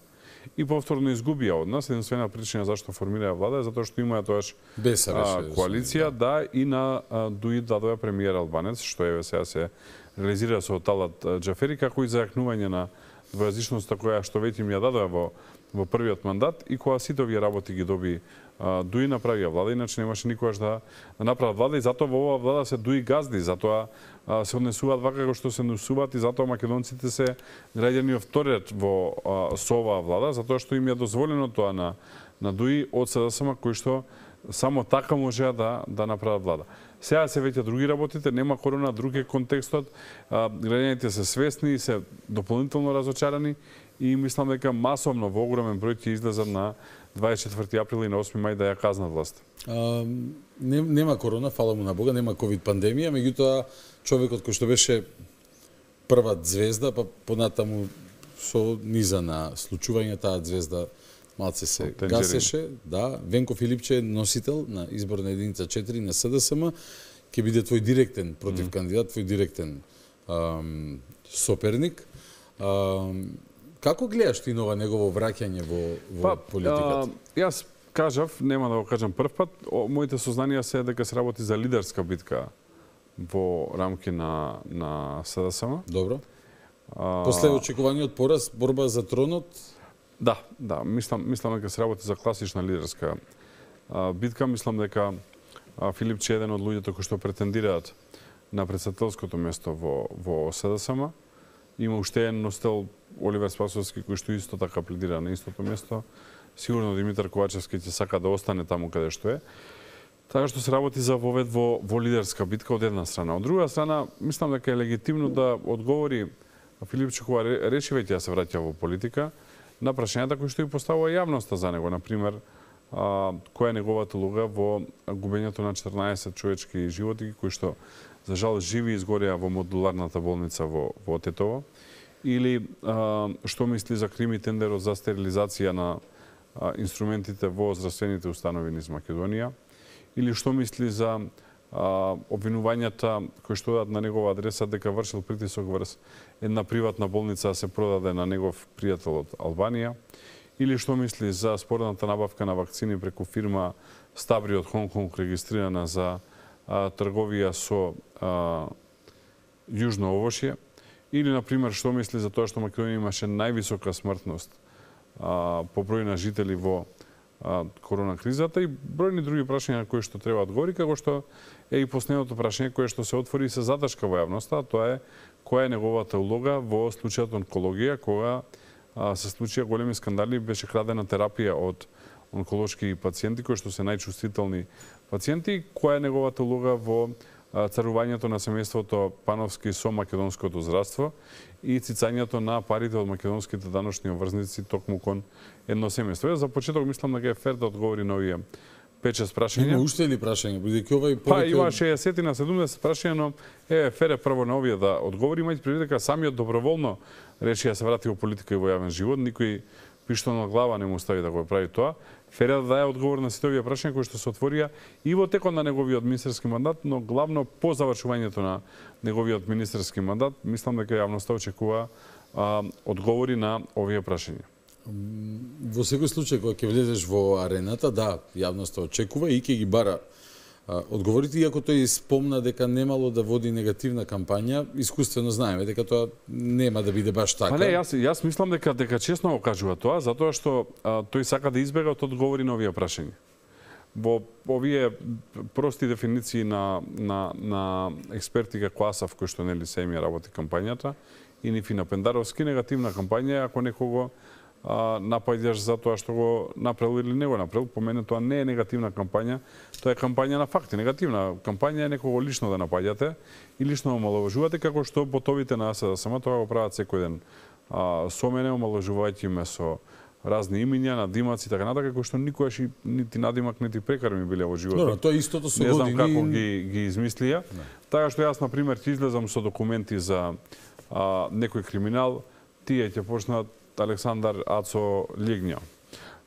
и повторно изгубија од нас. Единствена причина зашто формираа влада е затоа што имаа тогаш коалиција, да, и на Дуи дадоа премиер албанец, што еве сега се реализира со Талат Џафери, како и зајакнување на двојазичноста која што веќе им ја дадоа во во првиот мандат и кога сите овие работи ги доби Дуи направија влада, иначе немаше никогаш да, да направат влада и затоа во оваа влада се Дуи газди, затоа а, се однесуваат вака како што се однесуваат и затоа македонците се граѓани втори ред во а, со оваа влада, затоа што им е дозволено тоа на на Дуи од СДСМ кои што само така можеа да да направат влада. Сега се веќе други работите, нема корона, друг е контекстот, а, граѓаните се свесни и се дополнително разочарани и мислам дека масовно во огромен број ќе излезат на дваесет и четврти април и на осми мај да ја казнат власт. А, не, нема корона, фала му на Бога, нема ковид пандемија, меѓутоа човекот кој што беше прва звезда, па понатаму со низа на случување таа звезда малце се гасеше, да, Венко Филипче е носител на изборна единица четири на СДСМ, ќе биде твој директен против mm. кандидат, твој директен ам, соперник. Ам, Како гледаш ти нова негово враќање во, во па, политиката? А, јас кажав, нема да го кажам прв пат, о, моите сознанија се дека се работи за лидерска битка во рамки на, на СДСМ. Добро. А... После очекуваниот пораз, борба за тронот? Да, да, мислам, мислам дека се работи за класична лидерска а, битка. Мислам дека а, Филипче е еден од луѓето кои што претендираат на председателското место во, во СДСМ. Има уште еден носител, Оливер Спасовски, кој што исто така пледира на истото место. Сигурно Димитар Ковачевски ќе сака да остане таму каде што е. Така што се работи за вовед во, во лидерска битка од една страна. Од друга страна, мислам дека е легитимно да одговори Филипче кога реши веќе да се враќа во политика на прашањата кои што и поставува јавноста за него. Например, а, која е неговата улога во губењето на четрнаесет човечки животи кои што за жал живи изгореа во модуларната болница во, во Тетово. Или а, што мисли за крими тендерот за стерилизација на а, инструментите во здравствените установи низ Македонија? Или што мисли за а, обвинувањата кои што одат на негова адреса дека вршил притисок врз една приватна болница да се продаде на негов пријател од Албанија? Или што мисли за спорната набавка на вакцини преку фирма Стабри од Хонг Конг регистрирана за а, трговија со а, јужно овошје? Или, например, што мисли за тоа што Македонија имаше највисока смртност а, по број на жители во а, корона кризата и бројни други прашања на кои што треба одговори, како што е и последното прашање кое што се отвори и се заташка во јавноста, тоа е која е неговата улога во случајот онкологија, кога а, се случија големи скандали, беше крадена терапија од онколошки пациенти кои што се најчувствителни пациенти, која е неговата улога во царувањето на семејството Пановски со македонското здравство и цицањето на парите од македонските даночни обврзници токму кон едно семејство. За почеток мислам дека е фер да одговори на овие пет-шест прашања. Има уште ли прашања? Бидејќи овај повеќе... Па има шеесет на седумдесет прашања, но е фер е прво на овие да одговори. Имајте предвид дека самиот доброволно реши да се врати во политика и во јавен живот. Никој пиштон на глава не му стави да го прави тоа. Фере да даде одговор на сите овие прашања кои што се отворија и во текот на неговиот министерски мандат, но главно по завршувањето на неговиот министерски мандат, мислам дека јавноста очекува а, одговори на овие прашања. Во секој случај кога ќе влезеш во арената, да, јавноста очекува и ќе ги бара а, одговорите, иако тој спомна дека немало да води негативна кампања, искуствено знаеме дека тоа нема да биде баш така. Па не, јас јас мислам дека дека честно го кажува тоа, затоа што а, тој сака да избега од одговори на овие прашања. Во овие прости дефиниции на на на експерти како Асав кој што нели се ми работи кампањата и Нифина Пендаровски, негативна кампања е ако некого а, напаѓаш за тоа што го направил или не го направил. По мене тоа не е негативна кампања, тоа е кампања на факти. Негативна кампања е некого лично да напаѓате и лично омаловажувате, како што ботовите на СДСМ тоа го прават секој ден. А, со мене омаловажувајќи ме со разни имиња, надимаци и така натаму, кои што никогаш нити надимак, нити прекар ми биле во животот. Добро, тоа истото со години. Не знам години... како ги ги измислија. Не. Така што јас на пример ќе излезам со документи за а, некој криминал, тие ќе почнат Александар Ацо Лигња.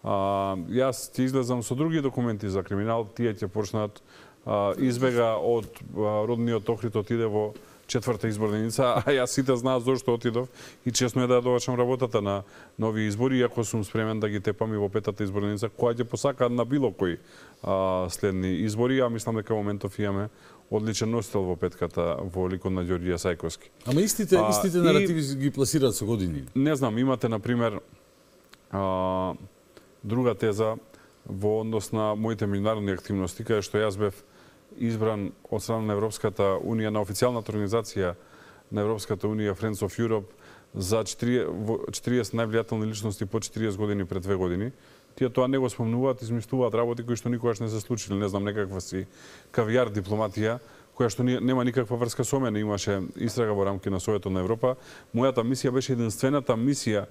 А, јас ќе излезам со други документи за криминал, тие ќе почнат а, избега од а, родниот Охрид, отиде во четврта изборна единица, а јас сите знаат зошто отидов и честно е да довачам работата на нови избори, иако сум спремен да ги тепам и во петата изборна единица, која ќе посака на било кој а, следни избори, а мислам дека во моментов имаме одличен носител во петката во ликот на Ѓорѓе Сајковски. Ама истите, а, истите наративи и, ги пласираат со години. Не знам, имате, например, а, друга теза во однос на моите меѓународни активности, каде што јас бев избран од страна на Европската Унија, на официјалната организација на Европската Унија, Friends of Europe, за четириесет највлијателни личности по четириесет години пред две години. Тие тоа не го спомнуваат, измислуваат работи кои што никогаш не се случили. Не знам, некаква си кавијар дипломатија, која што нема никаква врска со мене. Имаше истрага во рамки на Советот на Европа. Мојата мисија беше единствената мисија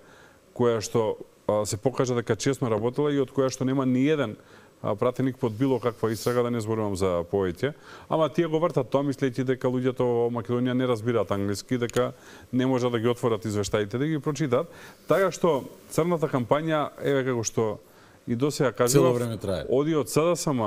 која што а, се покажа дека честно работела и од која што нема ни еден пратеник под било каква истрага, да не зборувам за повеќе. Ама тие го вртат тоа, мислејќи дека луѓето во Македонија не разбираат англиски, дека не може да ги отворат извештаите, да ги прочитат. Така што црната кампања, еве како што и досега кажував, цело време трае. Оди од СДСМ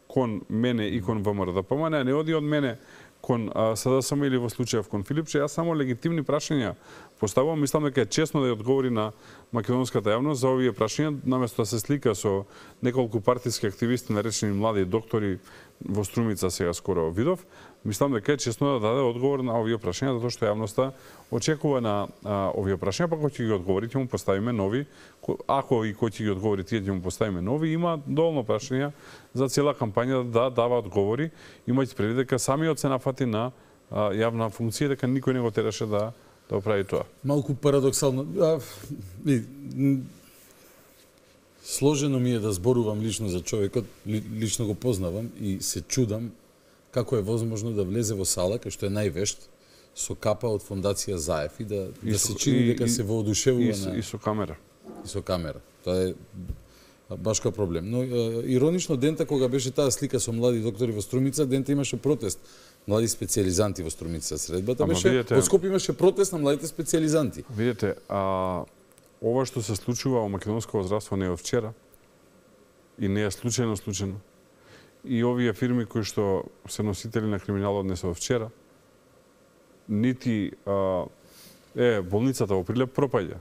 кон мене и кон ВМРО-ДПМН, а не оди од мене кон СДСМ или во случајов кон Филипче. Јас само легитимни прашања поставувам, мислам дека е честно да ја одговори на македонската јавност за овие прашања, наместо да се слика со неколку партиски активисти, наречени млади доктори во Струмица сега скоро видов. Мислам дека е честно да даде одговор на овие прашања, затоа што јавноста очекува на а, овие прашања, па кој ќе ги одговори, ќе му поставиме нови. Ако и кој ќе ги одговори, тие ќе му поставиме нови. Има доволно прашања за цела кампања да дава одговори. Имајте предвид дека самиот се нафати на а, јавна функција, дека никој не го тераше да да прави тоа. Малку парадоксално. А, и, сложено ми е да зборувам лично за човекот, лично го познавам и се чудам како е возможно да влезе во сала, кај што е највешт, со капа од фондација Заев и да, и да се чини дека се воодушевува на... И со камера. И со камера. Тоа е баш кој проблем. Но иронично, дента кога беше таа слика со млади доктори во Струмица, дента имаше протест млади специјализанти во Струмица. Средбата Ама беше, видите- во Скопје имаше протест на младите специјализанти. Видите, а, ова што се случува во македонското здравство не е од вчера и не е случајно случајно. И овие фирми кои што се носители на криминалот не се од вчера, нити а, е болницата во Прилеп пропаѓа.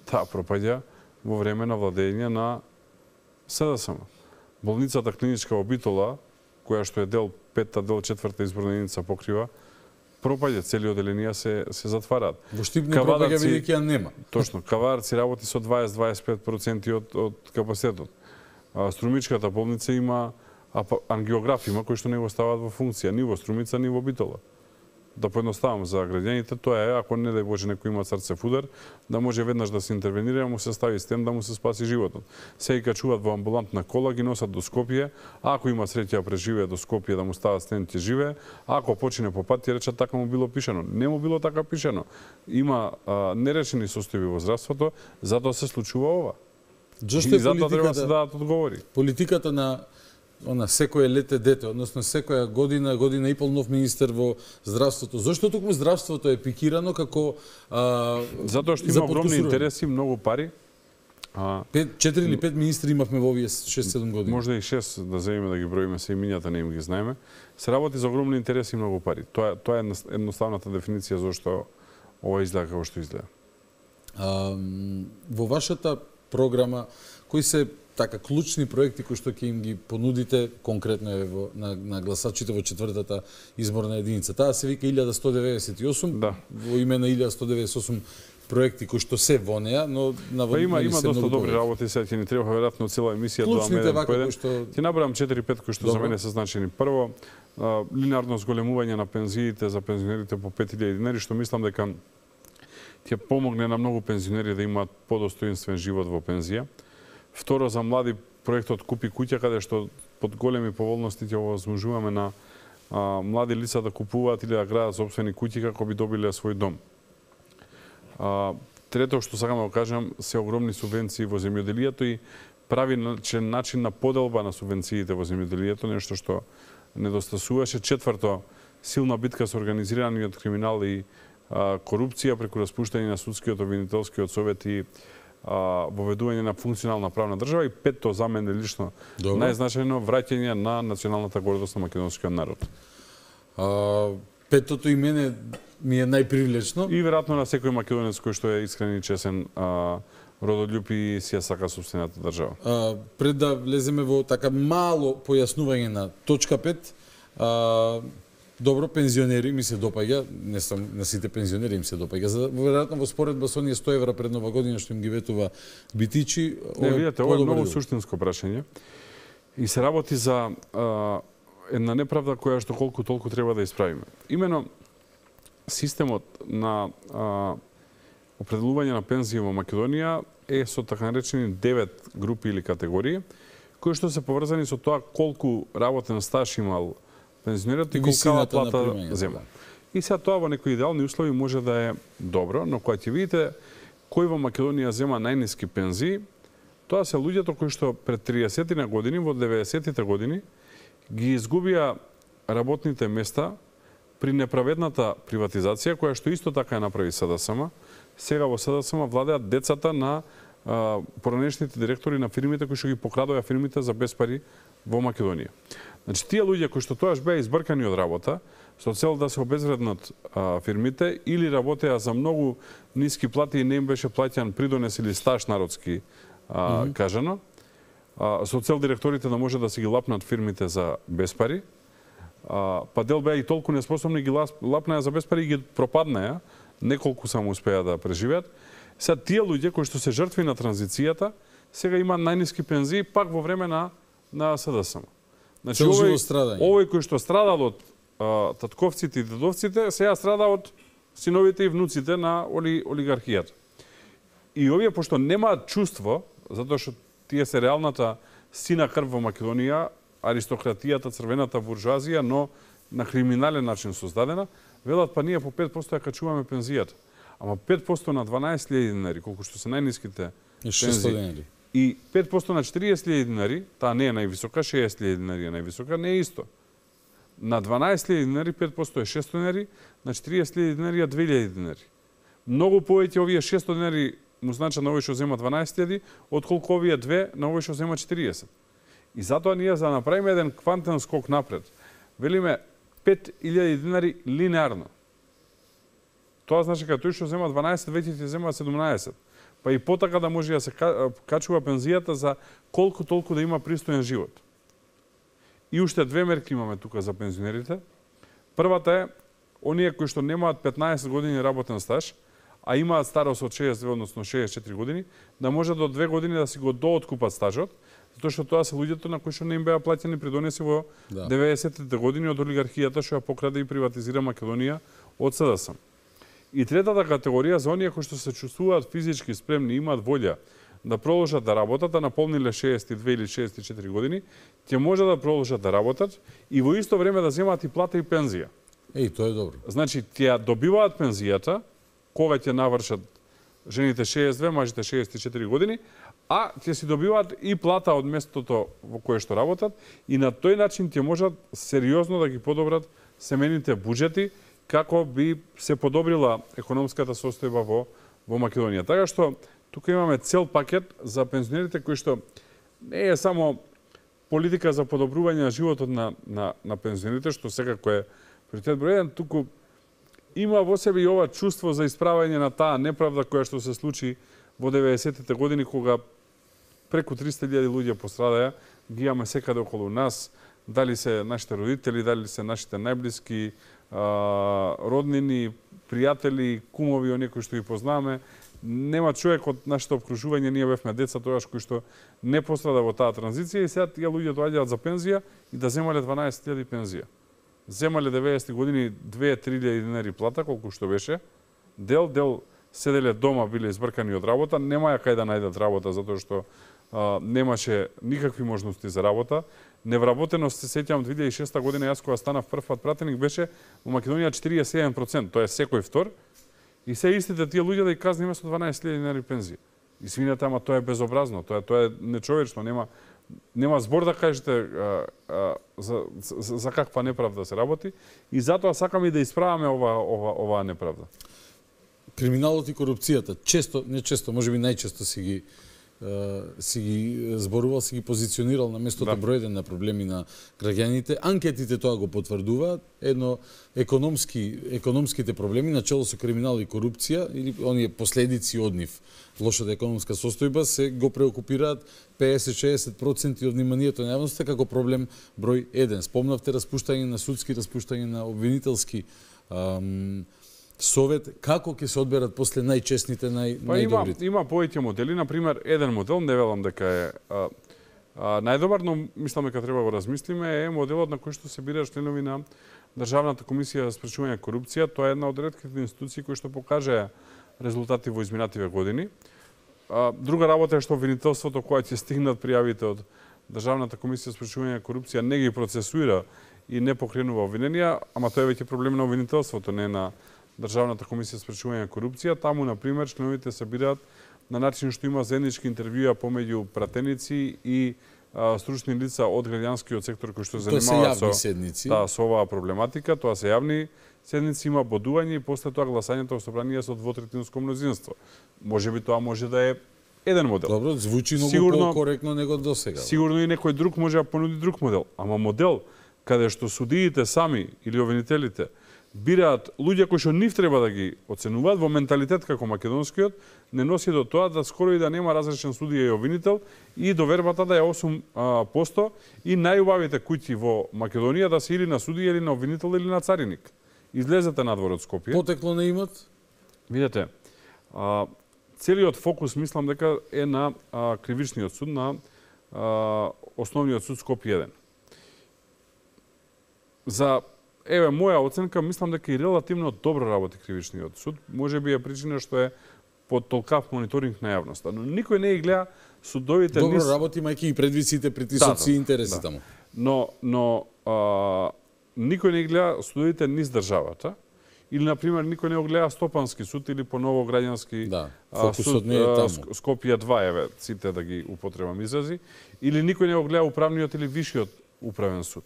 Таа пропаѓа во време на владење на СДСМ. Болницата клиничка во Битола, која што е дел петта, дел четврта изборна единица покрива, пропаѓа, цели оделенија се се затвараат. Во Штип не пропаѓа бидејќи ја нема. Точно, Каварци работи со дваесет до дваесет и пет проценти од од капацитетот. А, Струмичката болница има ангиограф има кои што не го ставаат во функција ни во Струмица ни во Битола. Да поедноставам за граѓаните, тоа е ако не дај Боже некој има срцев удар, да може веднаш да се интервенира, му се стави стен да му се спаси животот. Се и качуваат во амбулантна кола, ги носат до Скопје, ако има среќа преживее до Скопје да му стават стен ќе живее, ако почине по пат ќе речат така му било пишано. Не му било така пишано. Има а, нерешени состојби во здравството, затоа се случува ова. Зошто и е затоа треба да политиката- се дадат одговори. Политиката на она секое лете дете, односно секоја година, година и пол нов министер во здравството. Зошто токму здравството е пикирано како а, Затоа што за има огромни подкусурување? интереси, многу пари. А, Пет, четири или пет министри имавме во овие шест-седум години. Можда и шест да земеме да ги броиме се имињата, не им ги знаеме. Се работи за огромни интереси и многу пари. Тоа тоа е едноставната дефиниција зашто ова изгледа како што изгледа. А, во вашата програма, кои се така клучни проекти кои што ќе им ги понудите конкретно е во, на, на гласачите во четвртата изборна единица? Таа се вика илјада сто деветдесет и осум, да. Во име на илјада сто деветдесет и осум проекти кои што се во неа, но Па има има се доста многу добри повеќе. работи, сега ќе ни треба веројатно цела емисија до Клучните еден вака по еден. кои што- Ќе набрам четири-пет кои што за Добро. мене се значени. Прво, а, линарно зголемување на пензиите за пензионерите по пет илјади динари, што мислам дека ќе помогне на многу пензионери да имаат подостоинствен живот во пензија. Второ, за млади проектот Купи куќа, каде што под големи поволности ќе овозможуваме на а, млади лица да купуваат или да градат собствени куќи како би добиле свој дом. А, трето што сакам да го кажам, се огромни субвенции во земјоделието и прави начин, начин на поделба на субвенциите во земјоделието, нешто што недостасуваше. Четврто, силна битка со организираниот криминал и а, корупција преку распуштање на судскиот обвинителскиот совет и а, воведување на функционална правна држава. И петто, за мене лично Добро. најзначајно, враќање на националната гордост на македонскиот народ. А, петото и мене ми е најпривлечно. И веројатно на секој македонец кој што е искрен и чесен, а, родолюб и си ја сака собствената држава. А, пред да влеземе во така мало појаснување на точка пет, а, добро, пензионери ми се допаѓа, не сам на сите пензионери им се допаѓа. За веројатно во споредба со оние сто евра пред нова година што им ги ветува Битичи, Не, видете, ова е подобар многу дел. суштинско прашање. И се работи за а, една неправда која што колку толку треба да исправиме. Имено, системот на а, определување на пензија во Македонија е со така наречени девет групи или категории, кои што се поврзани со тоа колку работен стаж имал пензионерот и И колкава висината на плата примањето, зема. да. И сега тоа во некои идеални услови може да е добро, но кога ќе видите кој во Македонија зема најниски пензии, тоа се луѓето кои што пред триесет на години, во деветдесетите години, ги изгубија работните места при неправедната приватизација, која што исто така ја направи СДСМ. Сега во СДСМ владеат децата на а, поранешните директори на фирмите кои што ги покрадоа фирмите за без пари во Македонија. Значи, тие луѓе кои што тоаш беа избркани од работа, со цел да се обезвреднат а, фирмите, или работеа за многу ниски плати и не им беше плаќан придонес или стаж народски, а, mm -hmm. кажано, а, со цел директорите да може да се ги лапнат фирмите за без пари, а, па дел беа и толку неспособни ги лапнаа за без пари и ги пропаднаа, неколку само успеа да преживеат. Сега тие луѓе кои што се жртви на транзицијата, сега имаат најниски пензии пак во време на на СДСМ. Значи, Цел овој, живот страдање. овој кој што страдал од а, татковците и дедовците, сега страда од синовите и внуците на оли, олигархијата. И овие, пошто немаат чувство, затоа што тие се реалната сина крв во Македонија, аристократијата, црвената буржуазија, но на криминален начин создадена, велат па ние по пет проценти ја качуваме пензијата. Ама пет проценти на дванаесет илјади динари, колку што се најниските шестстотини динари. И пет проценти на четириесет илјади динари, таа не е највисока, шеесет илјади динари е највисока, не е исто. На дванаесет илјади динари пет проценти е шестстотини динари, на четириесет илјади динари е две илјади динари. Многу повеќе овие шестстотини динари му значат на овој што зема дванаесет илјади, отколку овие две на овој што зема четириесет. И затоа ние за да направиме еден квантен скок напред, велиме пет илјади динари линеарно. Тоа значи кога тој што зема дванаесет, веќе ќе зема седумнаесет. Па и потака да може да се качува пензијата за колку толку да има пристоен живот. И уште две мерки имаме тука за пензионерите. Првата е, оние кои што немаат петнаесет години работен стаж, а имаат старост од шеесет две, односно шеесет и четири години, да може до две години да си го дооткупат стажот, затоа што тоа се луѓето на кои што не им беа платени придонеси во да. деветдесетите години од олигархијата што ја покраде и приватизира Македонија од СДСМ. И третата категорија за оние кои што се чувствуваат физички спремни, имаат волја да продолжат да работат, да наполниле шеесет и две или шеесет и четири години, ќе може да продолжат да работат и во исто време да земаат и плата и пензија. Еј, тоа е добро. Значи, тие добиваат пензијата кога ќе навршат жените шеесет и две, мажите шеесет и четири години, а ќе си добиваат и плата од местото во кое што работат и на тој начин ќе можат сериозно да ги подобрат семејните буџети како би се подобрила економската состојба во во Македонија. Така што тука имаме цел пакет за пензионерите кои што не е само политика за подобрување на животот на на на пензионерите, што секако е приоритет број еден, туку има во себе и ова чувство за исправање на таа неправда која што се случи во деветдесетите години кога преку триста илјади луѓе пострадаја, ги имаме секаде околу нас, дали се нашите родители, дали се нашите најблиски а, роднини, пријатели, кумови, оние кои што ги познаваме. Нема човек од нашето обкружување, ние бевме деца тогаш кои што не пострада во таа транзиција и сега тие луѓе доаѓаат за пензија и да земале дванаесет илјади пензија. Земале деветдесетти години две-три илјади динари плата, колку што беше. Дел, дел седеле дома, биле избркани од работа, немаја кај да најдат работа затоа што а, немаше никакви можности за работа. Невработеност, се сеќавам, две илјади и шеста година, јас кога станав прв пат пратеник, беше во Македонија четириесет и седум проценти, тоа е секој втор. И се истите тие луѓе да ги казниме со дванаесет илјади динари пензија. Извинете, ама тоа е безобразно, тоа е, тоа е нечовечно, нема нема збор да кажете а, а, за, за, за каква неправда се работи и затоа сакаме и да исправаме ова ова оваа неправда. Криминалот и корупцијата често, не често, можеби најчесто си ги си ги зборувал, си ги позиционирал на местото да. број еден на проблеми на граѓаните. Анкетите тоа го потврдуваат. Едно економски економските проблеми начело со криминал и корупција или оние последици од нив, лошата економска состојба се го преокупираат педесет до шеесет проценти од вниманието на јавноста како проблем број еден. Спомнавте распуштање на судски, распуштање на обвинителски ам, совет, како ќе се одберат после најчестните, нај, па најдобрите? Има, има повеќе модели, например, еден модел, не велам дека е а, а, најдобар, но мислам дека треба го размислиме, е моделот на кој што се бираат членови на Државната комисија за спречување корупција. Тоа е една од ретките институции кои што покажаа резултати во изминативе години. А, друга работа е што обвинителството кога ќе стигнат пријавите од Државната комисија за спречување корупција не ги процесуира и не покренува обвиненија, ама тоа е веќе проблем на обвинителството, не на Државната комисија за спречување корупција. Таму, например, членовите се бираат на начин што има заеднички интервјуа помеѓу пратеници и а, стручни лица од граѓанскиот сектор кои што занимаваат со, да, со оваа проблематика. Тоа се јавни седници, има бодување и после тоа гласањето во собрание со двотретинско мнозинство. Можеби тоа може да е еден модел. Добро, звучи многу покоректно него досега. Сигурно и некој друг може да понуди друг модел, ама модел каде што судиите сами или обвинителите бираат луѓе кои што нив треба да ги оценуваат во менталитет како македонскиот, не носи до тоа да скоро и да нема разрешен судија и обвинител и довербата да е осум проценти и најубавите куќи во Македонија да се или на судија или на обвинител или на цариник. Излезете надвор од Скопје. Потекло на имот? Видете, а, целиот фокус мислам дека е на а, кривичниот суд, на а, основниот суд Скопје еден. За Еве, моја оценка, мислам дека и релативно добро работи кривичниот суд. Може би е причина што е под толкав мониторинг на јавноста. Но никој не ги гледа судовите... Добро низ... работи, мајки и предвисите, притисоци и да, интереси да. Таму. Но, но а, никој не ги гледа судовите низ државата. Или, например, никој не го гледа Стопански суд или поново граѓански да, суд не е таму. Скопје два, еве, сите да ги употребам изрази. Или никој не го гледа управниот или вишиот управен суд.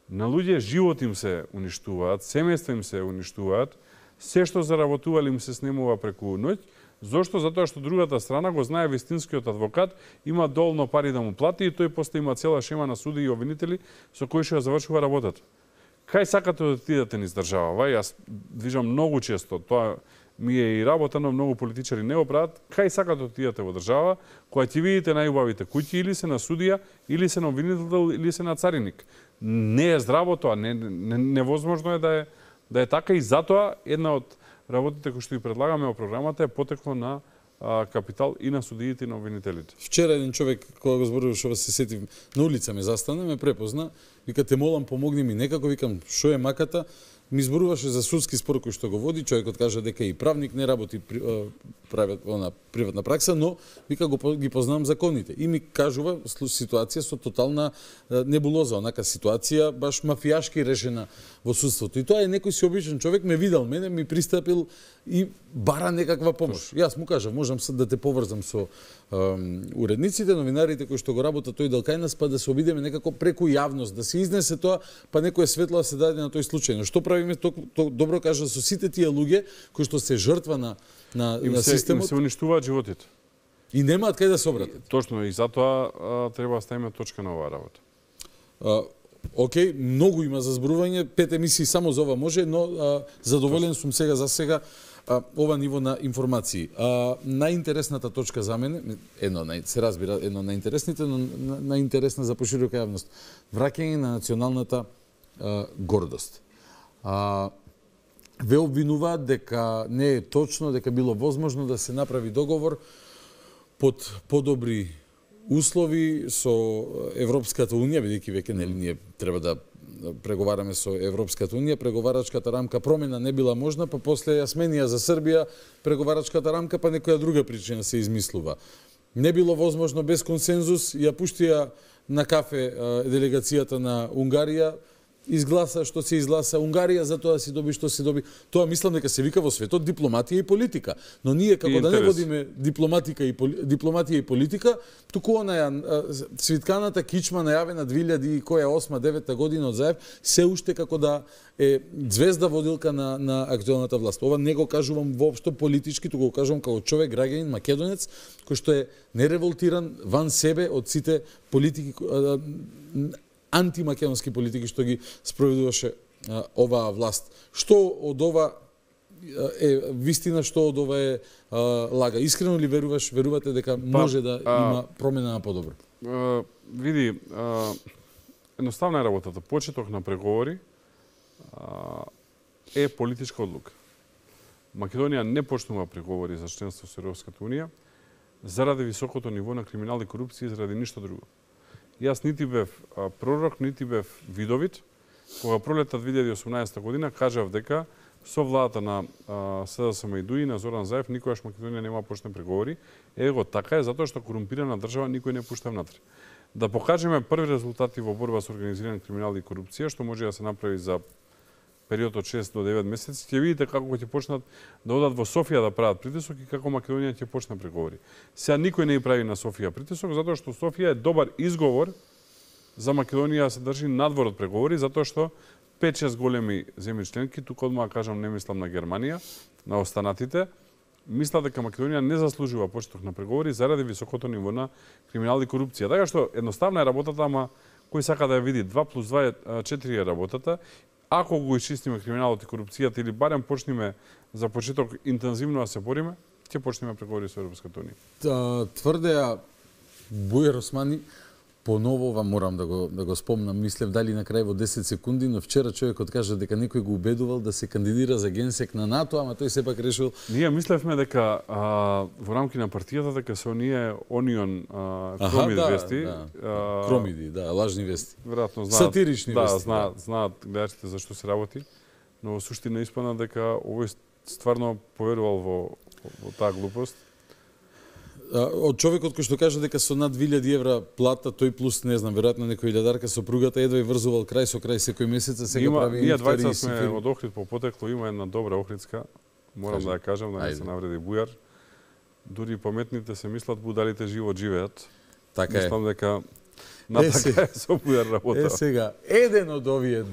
На луѓе живот им се уништуваат, семејства им се уништуваат, се што заработували им се снемува преку ноќ. Зошто? Затоа што другата страна го знае вистинскиот адвокат, има доволно пари да му плати и тој после има цела шема на суди и обвинители со кои што ја завршува работата. Кај сакате да отидете низ држава? Јас движам многу често, тоа ми е и работа, но многу политичари не го прават. Кај сакате да отидете во држава, која ќе видите најубавите куќи, или се на судија, или се на обвинител, или се на цариник. Не е здраво тоа, не, не, невозможно е да е, да е така и затоа една од работите кои што ви предлагаме во програмата е потекло на а, капитал и на судиите и на обвинителите. Вчера еден човек, кога го зборуваш, ова се сетив, на улица ме застана, ме препозна, вика, те молам, помогни ми некако, викам, шо е маката, ми зборуваше за судски спор кој што го води, човекот кажа дека и правник не работи прават она приватна пракса, но вика го ги познавам законите и ми кажува ситуација со тотална небулоза, онака ситуација баш мафијашки решена во судството. И тоа е некој си обичен човек, ме видел мене, ми пристапил и бара некаква помош. Јас му кажав, можам да те поврзам со уредниците, новинарите кои што го работат тој дел кај нас, па да се обидеме некако преку јавност, да се изнесе тоа, па некој светло да се даде на тој случај. Но што правиме, то, то добро кажа, со сите тие луѓе кои што се жртва на на, им на се, системот. Им се уништуваат животите. И немаат кај да се обратат. Точно, и затоа а, треба да ставиме точка на оваа работа. А, окей, многу има за зборување, пет емисии само за ова може, но а, задоволен сум сега за сега а, ова ниво на информации. А, најинтересната точка за мене, едно се разбира, едно од најинтересните, но најинтересна за поширока јавност, враќање на националната а, гордост. А, ве обвинуваат дека не е точно, дека било возможно да се направи договор под подобри услови со Европската унија, бидејќи веќе нели ние треба да преговараме со Европската унија, преговарачката рамка промена не била можна, па после ја сменија за Србија преговарачката рамка, па некоја друга причина се измислува. Не било возможно без консензус, ја пуштија на кафе делегацијата на Унгарија, изгласа што се изгласа Унгарија за тоа да си доби што се доби. Тоа мислам дека се вика во светот дипломатија и политика. Но ние како да не водиме дипломатика и поли... дипломатија и политика, туку онаја цвитканата кичма најавена две илјади и осма девета година од Заев се уште како да е звезда водилка на на актуелната власт. Ова не го кажувам воопшто политички, туку го кажувам како човек, граѓанин, македонец, кој што е нереволтиран ван себе од сите политики антимакедонски политики што ги спроведуваше а, оваа власт. Што од ова е вистина, што од ова е а, лага? Искрено ли веруваш, верувате дека може да а, има промена на подобро? А, види, а, едноставна е работата. Почеток на преговори а, е политичка одлука. Македонија не почнува преговори за членство со Европската унија заради високото ниво на криминал и корупција и заради ништо друго. Јас нити бев а, пророк, нити бев видовит. Кога пролета две илјади и осумнаесета година кажав дека со владата на СДСМ и ДУИ на Зоран Заев никогаш Македонија нема почне преговори. Его така е затоа што корумпирана држава никој не пушта внатре. Да покажеме први резултати во борба со организиран криминал и корупција, што може да се направи за период од шест до девет месеци, ќе видите како ќе почнат да одат во Софија да прават притисок и како Македонија ќе почне преговори. Сега никој не прави на Софија притисок, затоа што Софија е добар изговор за Македонија да се држи надвор од преговори, затоа што пет-шест големи земји членки, тука одма кажам, не мислам на Германија, на останатите, мислат дека Македонија не заслужува почеток на преговори заради високото ниво на криминал и корупција. Така што едноставна е работата, ама кој сака да ја види два плюс два е четири е работата. Ако го исчистиме криминалот и корупцијата или барем почнеме за почеток интензивно да се бориме, ќе почнеме преговори со Европската унија. Тврдеа Бујар Османи, поново ова морам да го да го спомнам, мислев дали на крај во десет секунди, но вчера човекот кажа дека некој го убедувал да се кандидира за генсек на НАТО, ама тој сепак решил. Ние мислевме дека а, во рамки на партијата дека се оние Онион кромиди да, вести, да. А, кромиди, да, лажни вести. Веројатно знаат. Сатирични да, вести. Знаат, да, знаат гледачите за што се работи, но во суштина испадна дека овој стварно поверувал во во таа глупост. Од човекот кој што кажа дека со над две илјади евра плата, тој плюс, не знам, веројатно некој илјадарка сопругата едва и врзувал крај со крај секој месец, а сега има, прави ние двајца сме од Охрид по потекло, има една добра охридска, морам Кажи. да ја кажам, да не се навреди Бујар. Дури паметните се мислат, будалите живот живеат. Така Мислам е. дека На така е со Бујар работа. Е сега, еден од овие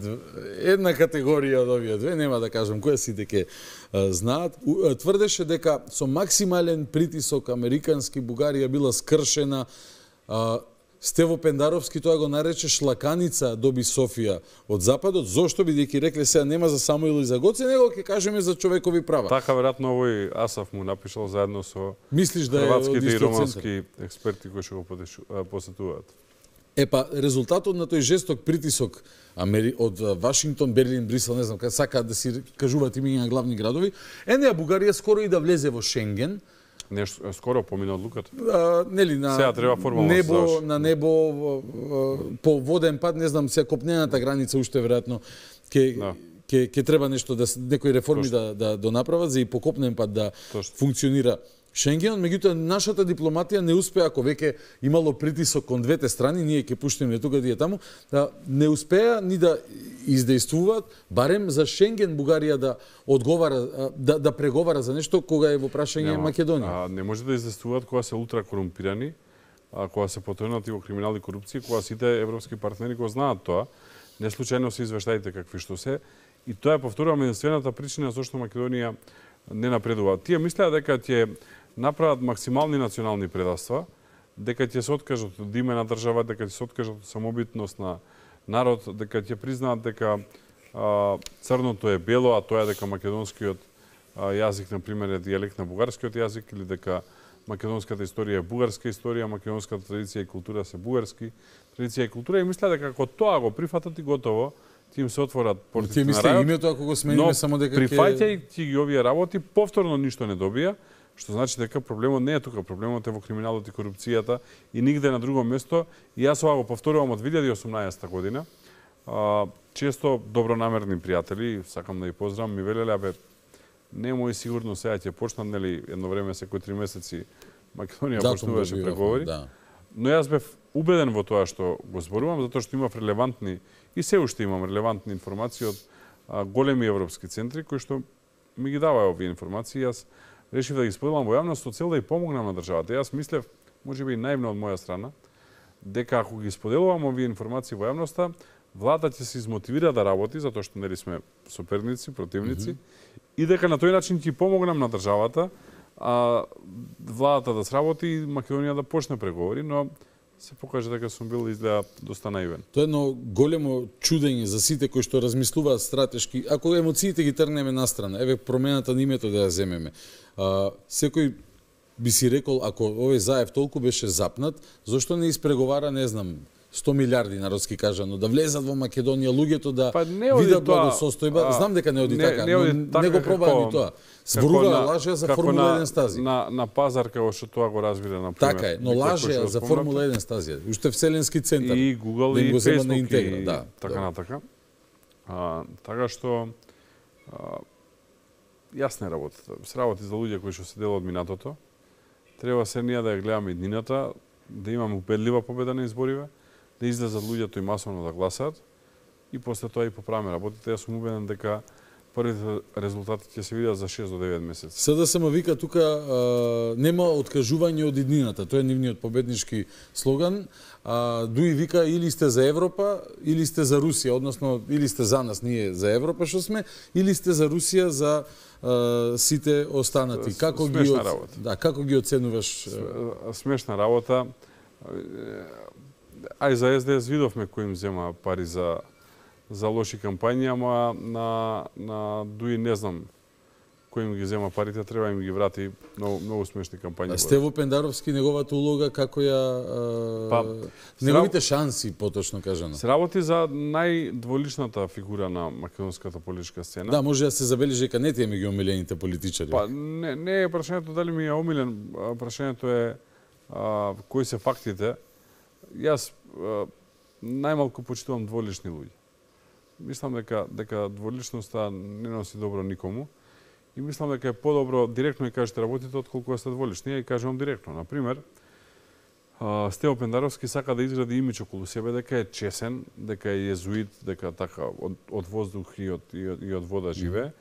една категорија од овие две, нема да кажам која сите ке знаат, тврдеше дека со максимален притисок американски Бугарија била скршена. Стево Пендаровски тоа го нарече шлаканица доби Софија од Западот. Зошто, бидејќи рекле сега нема за Самуил и за Гоце, него ќе кажеме за човекови права. Така веројатно овој Асаф му напишал заедно со Мислиш да хрватските и романски експерти кои што го посетуваат. Епа, резултатот на тој жесток притисок од Вашингтон, Берлин, Брисел, не знам, кај сакаат да си кажуваат имиња на главни градови, енеја Бугарија скоро и да влезе во Шенген. Нешто скоро помина одлуката. А, нели на сега треба формално небо, на небо по воден пат, не знам, сега копнената граница уште веројатно ќе да. ќе ќе треба нешто да некои реформи Точно. да да донаправат за и по копнен пат да Точно. функционира Шенген, меѓутоа нашата дипломатија не успеа, ако веќе имало притисок кон двете страни, ние ќе пуштиме тука и таму, да не успеа ни да издействуваат, барем за Шенген Бугарија да одговара, да, да преговара за нешто кога е во прашање Македонија. А, не може да издействуваат кога се ултра корумпирани, а кога се потонати во криминални корупции, кога сите европски партнери го знаат тоа. Не случајно се извештаите какви што се. И тоа е, повторувам, единствената причина зашто Македонија не напредува. Тие мислеа дека ќе направат максимални национални предавства, дека ќе се откажат од име на држава, дека ќе се откажат од самобитност на народ, дека ќе признаат дека а, црното е бело, а тоа е дека македонскиот а, јазик, например, е дијалект на бугарскиот јазик, или дека македонската историја е бугарска историја, македонската традиција и култура се бугарски традиција и култура, и мислеа дека ако тоа го прифатат и готово, ти им се отворат портите на рајот. Името ако го смениме само дека ќе прифаќајќи ги овие работи, повторно ништо не добија, што значи дека проблемот не е тука, проблемот е во криминалот и корупцијата и нигде на друго место. И јас ова го повторувам од две илјади и осумнаесета година. А, често добронамерни пријатели, сакам да ги поздравам, ми велеле, абе, немој сигурно сега ќе почнат, нели, едно време секој три месеци Македонија да, почнуваше преговори. Да. Но јас бев убеден во тоа што го зборувам, затоа што имав релевантни и се уште имам релевантни информации од а, големи европски центри кои што ми ги даваа овие информации. Јас решив да ги споделам во јавност со цел да ја помогнам на државата. Јас мислев, можеби и наивно од моја страна, дека ако ги споделувам овие информации во јавноста, владата ќе се измотивира да работи, затоа што нели сме соперници, противници, mm -hmm. и дека на тој начин ќе помогнам на државата, а владата да сработи и Македонија да почне преговори, но се покаже дека сум бил изгледа доста наивен. Тоа е едно големо чудење за сите кои што размислуваат стратешки. Ако емоциите ги тргнеме настрана, еве промената на името да ја земеме. А, секој би си рекол, ако овој Заев толку беше запнат, зошто не испреговара, не знам, сто милиарди народски кажано, да влезат во Македонија луѓето да па видат благосостојба. Знам дека не оди не, така, не, оди но така, не го пробаа ни тоа. Зборува лажеа за Формула еден стази. На, на пазар како што тоа го разбира, на пример. Така е, но лажеа за Формула еден стази. Уште Вселенски центар. И Google да и Facebook интегра, и да, така да. натака. А, така што а, јасна е работата. Сработи за луѓе кои што се дел од минатото. Треба се ние да ја гледаме иднината, да имаме убедлива победа на избориве, да излезат луѓето и масовно да гласаат и после тоа и поправиме работите. Јас сум убеден дека првите резултати ќе се видат за шест до девет месеци. СДСМ вика тука а, нема откажување од иднината. Тоа е нивниот победнички слоган. А, Дуи вика или сте за Европа, или сте за Русија, односно или сте за нас, ние за Европа што сме, или сте за Русија, за а, сите останати. Како Смешна ги од... работа. Да, како ги оценуваш? Смешна работа. Ај за Ес Де Ес видовме кои им зема пари за за лоши кампањи, ама на на Дуи не знам кој им ги зема парите, треба им ги врати. Многу многу смешни кампањи. Стево Пендаровски, неговата улога како ја а, па, неговите шанси, поточно кажано. Се работи за најдволичната фигура на македонската политичка сцена. Да, може да се забележи дека не тие меѓу омилените политичари. Па не не е прашањето дали ми е омилен, прашањето е а, кои се фактите. Јас а, најмалку почитувам дволични луѓе. Мислам дека дека дволичноста не носи добро никому и мислам дека е подобро директно и кажете работите отколку сте дволични. Ја и кажувам директно. На пример, Стево Пендаровски сака да изгради имидж околу себе дека е чесен, дека е језуит, дека така од, од воздух и од, и од, и од вода живее,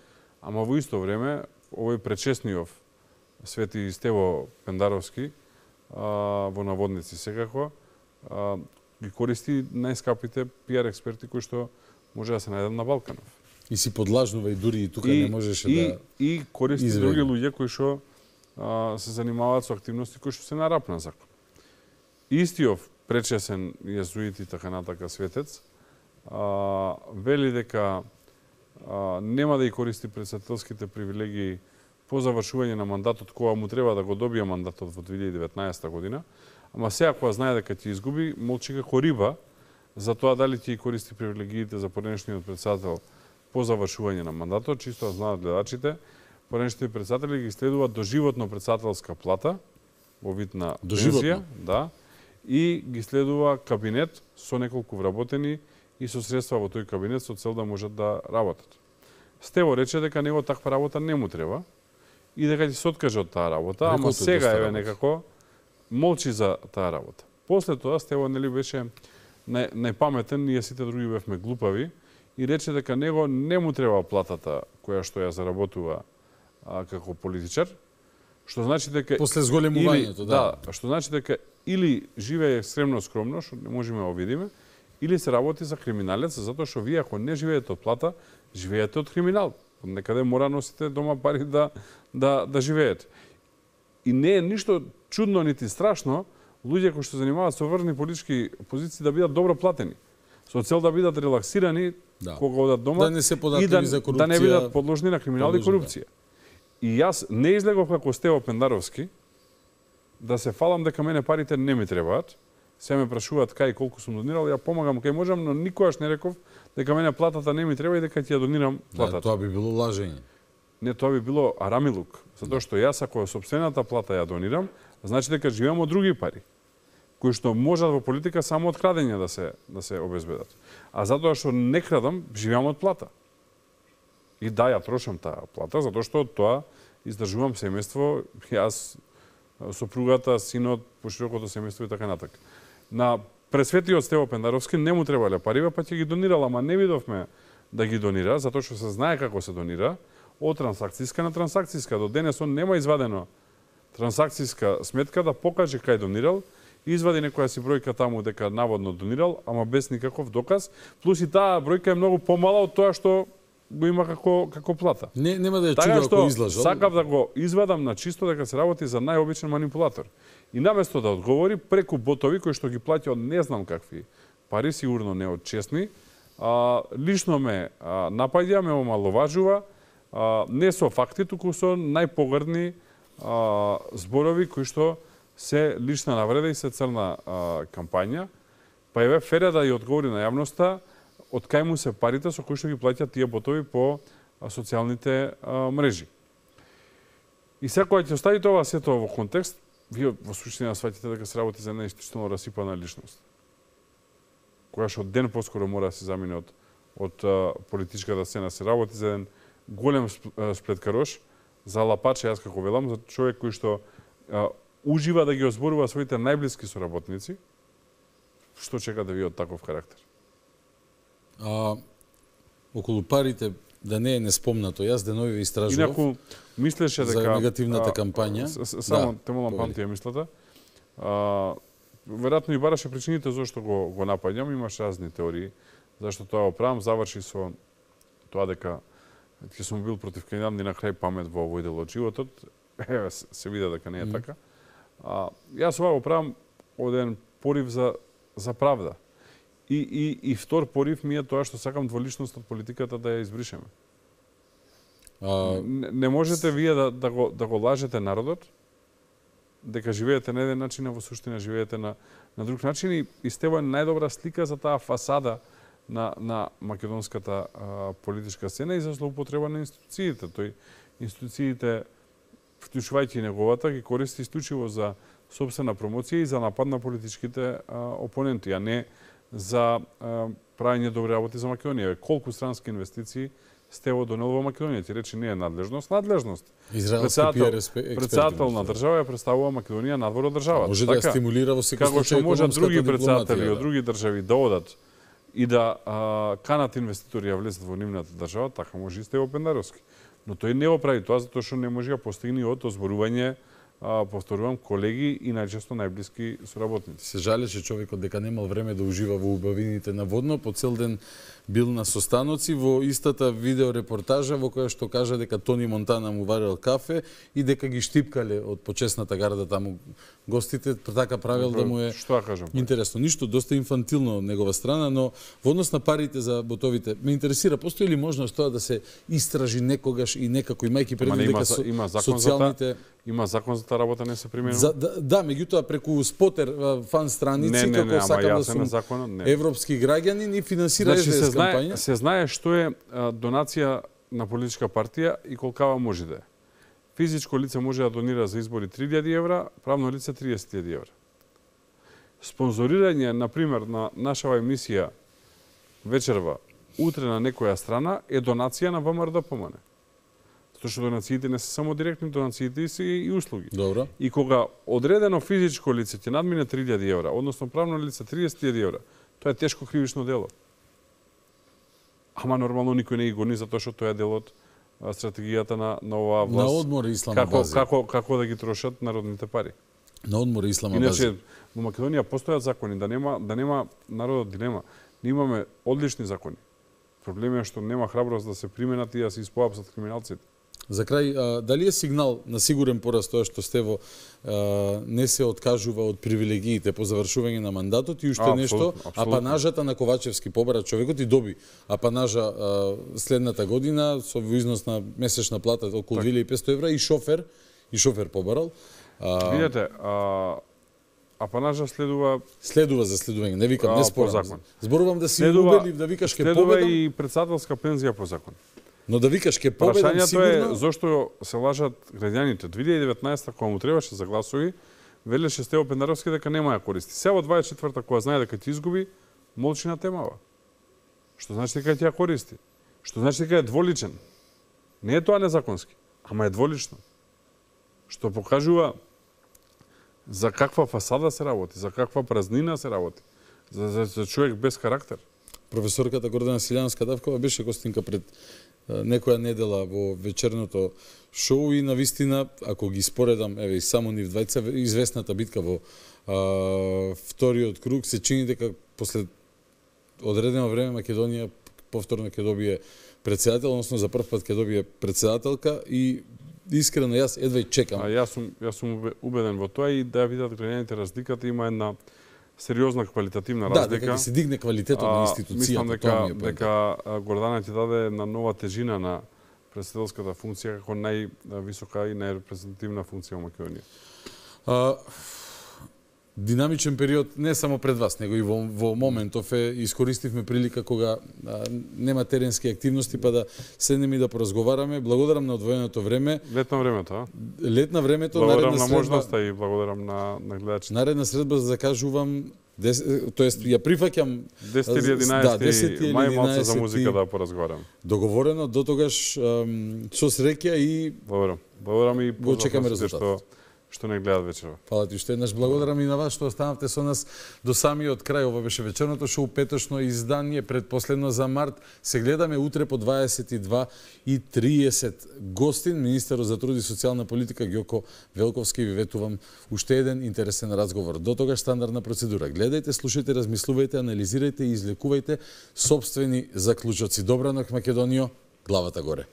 ама во исто време овој пречесниов Свети Стево Пендаровски а, во наводници секако, а, ги користи најскапите пиар експерти кои што може да се најдат на Балканов. И си подлажнува и дури и тука и, не можеше и, да и користи изведе. други луѓе кои што се занимаваат со активности кои што се на рап на закон. Истиов пречесен језуит и така натака светец а, вели дека а, нема да ја користи претседателските привилегии по завршување на мандатот кога му треба да го добие мандатот во две илјади и деветнаесета година, ама сега кога знае дека ќе изгуби, молчи како риба за тоа дали ќе користи привилегиите за поредишниот претседател по завршување на мандатот, чисто да знаат гледачите, поредишните претседатели ги следуваат доживотно претседателска плата во вид на пензија, да, и ги следува кабинет со неколку вработени и со средства во тој кабинет со цел да можат да работат. Стево рече дека него таква работа не му треба и дека ќе се откаже од таа работа, ама сега еве некако молчи за таа работа. После тоа Стево нели беше нај, најпаметен, ние сите други бевме глупави и рече дека него не му треба платата која што ја заработува а, како политичар, што значи дека после зголемувањето, да. да, што значи дека или живее екстремно скромно, што не можеме да видиме, или се работи за криминалец, затоа што вие ако не живеете од плата, живеете од криминал. Некаде мора носите дома пари да да да живеете. И не е ништо чудно нити страшно луѓе кои што занимаваат со врвни политички позиции да бидат добро платени, со цел да бидат релаксирани да. Кога одат дома да не се и да, за корупција, да не бидат подложни на криминал и корупција. И јас не излегов како Стево Пендаровски да се фалам дека мене парите не ми требаат. Се ме прашуваат кај колку сум донирал, ја помагам кај можам, но никогаш не реков дека мене платата не ми треба и дека ќе ја донирам платата. Да, тоа би било лажење. Не, тоа би било арамилук, затоа што јас ако сопствената плата ја донирам, значи дека живеам од други пари, кои што можат во политика само од крадење да се да се обезбедат. А затоа што не крадам, живеам од плата. И да, ја трошам таа плата, затоа што од тоа издржувам семејство, јас, сопругата, синот, поширокото семејство и така натака. На пресветиот Стево Пендаровски не му требале пари, па ќе ги донирал, ама не видовме да ги донира, затоа што се знае како се донира, од трансакцијска на трансакцијска. До денес он нема извадено трансакцијска сметка да покаже кај донирал, извади некоја си бројка таму дека наводно донирал, ама без никаков доказ, плюс и таа бројка е многу помала од тоа што го има како како плата. Не, нема да ја така чудо ако излажал. Сакав да го извадам на чисто дека се работи за најобичен манипулатор. И наместо да одговори преку ботови кои што ги плаќа од не знам какви пари, сигурно не од честни, а, лично ме а, напаѓа, ме омаловажува, а, не со факти, туку со најпогрдни а, зборови кои што се лична навреда и се црна а, кампања. Па еве Фере да ја одговори на јавноста од кај му се парите со кои што ги плаќаат тие ботови по а, социјалните а, мрежи. И сега кога ќе остави тоа сето во контекст, вие во суштина сваќате дека се работи за една институционално расипана личност, која што ден поскоро мора да се замине од, од а, политичката сцена, се работи за еден голем сплеткарош, за лапач, јас како велам, за човек кој што а, ужива да ги озборува своите најблиски соработници, што чекате вие од таков карактер? А, околу парите, да не е неспомнато, јас денови истражував. Инаку, мислеше дека... За негативната кампања. Само, те молам, памти ја мислата. А, веројатно и бараше причините зашто го, го напаѓам, имаш разни теории, зашто тоа оправам, заврши со тоа дека ќе сум бил против кандидат и на крај памет во овој дел од животот. Еве, се види дека не е така. А, јас ова го правам од еден порив за, за правда. И, и, и втор порив ми е тоа што сакам дволичност од политиката да ја избришеме. А... Не, не можете вие да, да, го, да го лажете народот, дека живеете на еден начин, а во суштина живеете на, на друг начин и, и Стево е најдобра слика за таа фасада на, на македонската а, политичка сцена и за злоупотреба на институциите. Тој институциите, вклучувајќи неговата, ги користи исклучиво за собствена промоција и за напад на политичките а, опоненти, а не за а, правење добри работи за Македонија. Колку странски инвестиции Стево донел во Македонија? Ти рече не е надлежност, надлежност. Председател, председател на држава ја представува Македонија надвор од државата. Може да ја стимулира во секој случај. Како што можат други председатели да. од други држави да одат и да а, канат инвеститори ја влезат во нивната држава, така може и Стево Пендаровски. Но тој не го прави тоа затоа што не може да постигне од озборување а, повторувам, колеги и најчесто најблиски соработници. Се жалеше човекот дека немал време да ужива во убавините на водно, по цел ден бил на состаноци во истата видеорепортажа во која што кажа дека Тони Монтана му варел кафе и дека ги штипкале од почесната гарда таму гостите, така правил да му е што да кажам. Интересно, ништо доста инфантилно од негова страна, но во однос на парите за ботовите, ме интересира постои ли можност тоа да се истражи некогаш и некако имајќи предвид дека со, има закон социјалните за та, има закон за таа работа не се применува. За, да, да, меѓутоа преку спотер фан страници не, не, како не, сакам да сум законот, европски граѓанин и финансира значи, ес де ес се кампања. Се знае што е а, донација на политичка партија и колкава може да е. Физичко лице може да донира за избори три илјади евра, правно лице триесет илјади евра. Спонзорирање, например, на нашава емисија вечерва утре на некоја страна е донација на ВМРО-ДПМН. Затоа што донациите не се само директни, донациите се и услуги. Добро. И кога одредено физичко лице ќе надмине три илјади евра, односно правно лице триесет илјади евра, тоа е тешко кривично дело. Ама нормално никој не ги гони затоа што тоа е дел од стратегијата на, на оваа власт. На одмор и ислама како, бази. Како, како да ги трошат народните пари. На одмор и ислама Иначе, бази. во Македонија постојат закони, да нема, да нема народот дилема. Ние имаме одлични закони. Проблемот е што нема храброст да се применат и да се испоапсат криминалците. За крај, а, дали е сигнал на сигурен пораст тоа што Стево а, не се откажува од привилегиите по завршување на мандатот и уште а, нешто, абсолютно. апанажата на Ковачевски побара човекот и доби апанажа а, следната година со износ на месечна плата околу так. две илјади и петстотини евра и шофер, и шофер побарал. А... Видете, а... апанажа следува следува за следување, не викам, не спорам. Зборувам да си следува, убедлив да викаш ке победам. победам. Следува и председателска пензија по закон. Но да викаш ке победам Прашањето сигурно... е зошто се лажат граѓаните. две илјади и деветнаесета кога му требаше за гласови, велеше Стево Пендаровски дека нема ја користи. Сега во дваесет и четврта кога знае дека ќе изгуби, молчи на темава. Што значи дека ќе ја користи? Што значи дека е дволичен? Не е тоа незаконски, ама е дволично. Што покажува за каква фасада се работи, за каква празнина се работи, за, за, за човек без карактер. Професорката Гордана Силјанска-Давкова беше гостинка пред некоја недела во вечерното шоу и навистина, ако ги споредам, еве и само нив двајца, известната битка во а, вториот круг, се чини дека после одредено време Македонија повторно ќе добие председател, односно за прв пат ќе добие председателка и искрено јас едва и чекам. А јас сум јас сум убеден во тоа и да видат граѓаните разликата, има една сериозна квалитативна разлика. Да, дека ќе се дигне квалитетот на институцијата. Мислам дека дека Гордана ќе даде една нова тежина на председателската функција како највисока и најрепрезентативна функција во Македонија. А, динамичен период не само пред вас, него и во, во моментов е искористивме прилика кога а, нема теренски активности, па да седнеме и да поразговараме. Благодарам на одвоеното време. Летна времето, а? Летна времето, благодарам наредна на средба, можноста и благодарам на, на гледачите. Наредна средба за да кажувам, тоест ја прифаќам десет или единаесет мај малце за музика да поразговарам. Договорено, до тогаш со среќа и благодарам. Благодарам и го чекаме резултатот. Што што не гледат вечерва. Фала ти уште еднаш, благодарам и на вас што останавте со нас до самиот крај. Ова беше вечерното шоу, петошно издание, предпоследно за март. Се гледаме утре по дваесет и два и триесет. Гостин, министерот за труд и социјална политика Ѓоко Велковски, ви ветувам уште еден интересен разговор. До тогаш стандардна процедура. Гледајте, слушајте, размислувајте, анализирајте и излекувајте сопствени заклучоци. Добра ноќ, Македонијо, главата горе.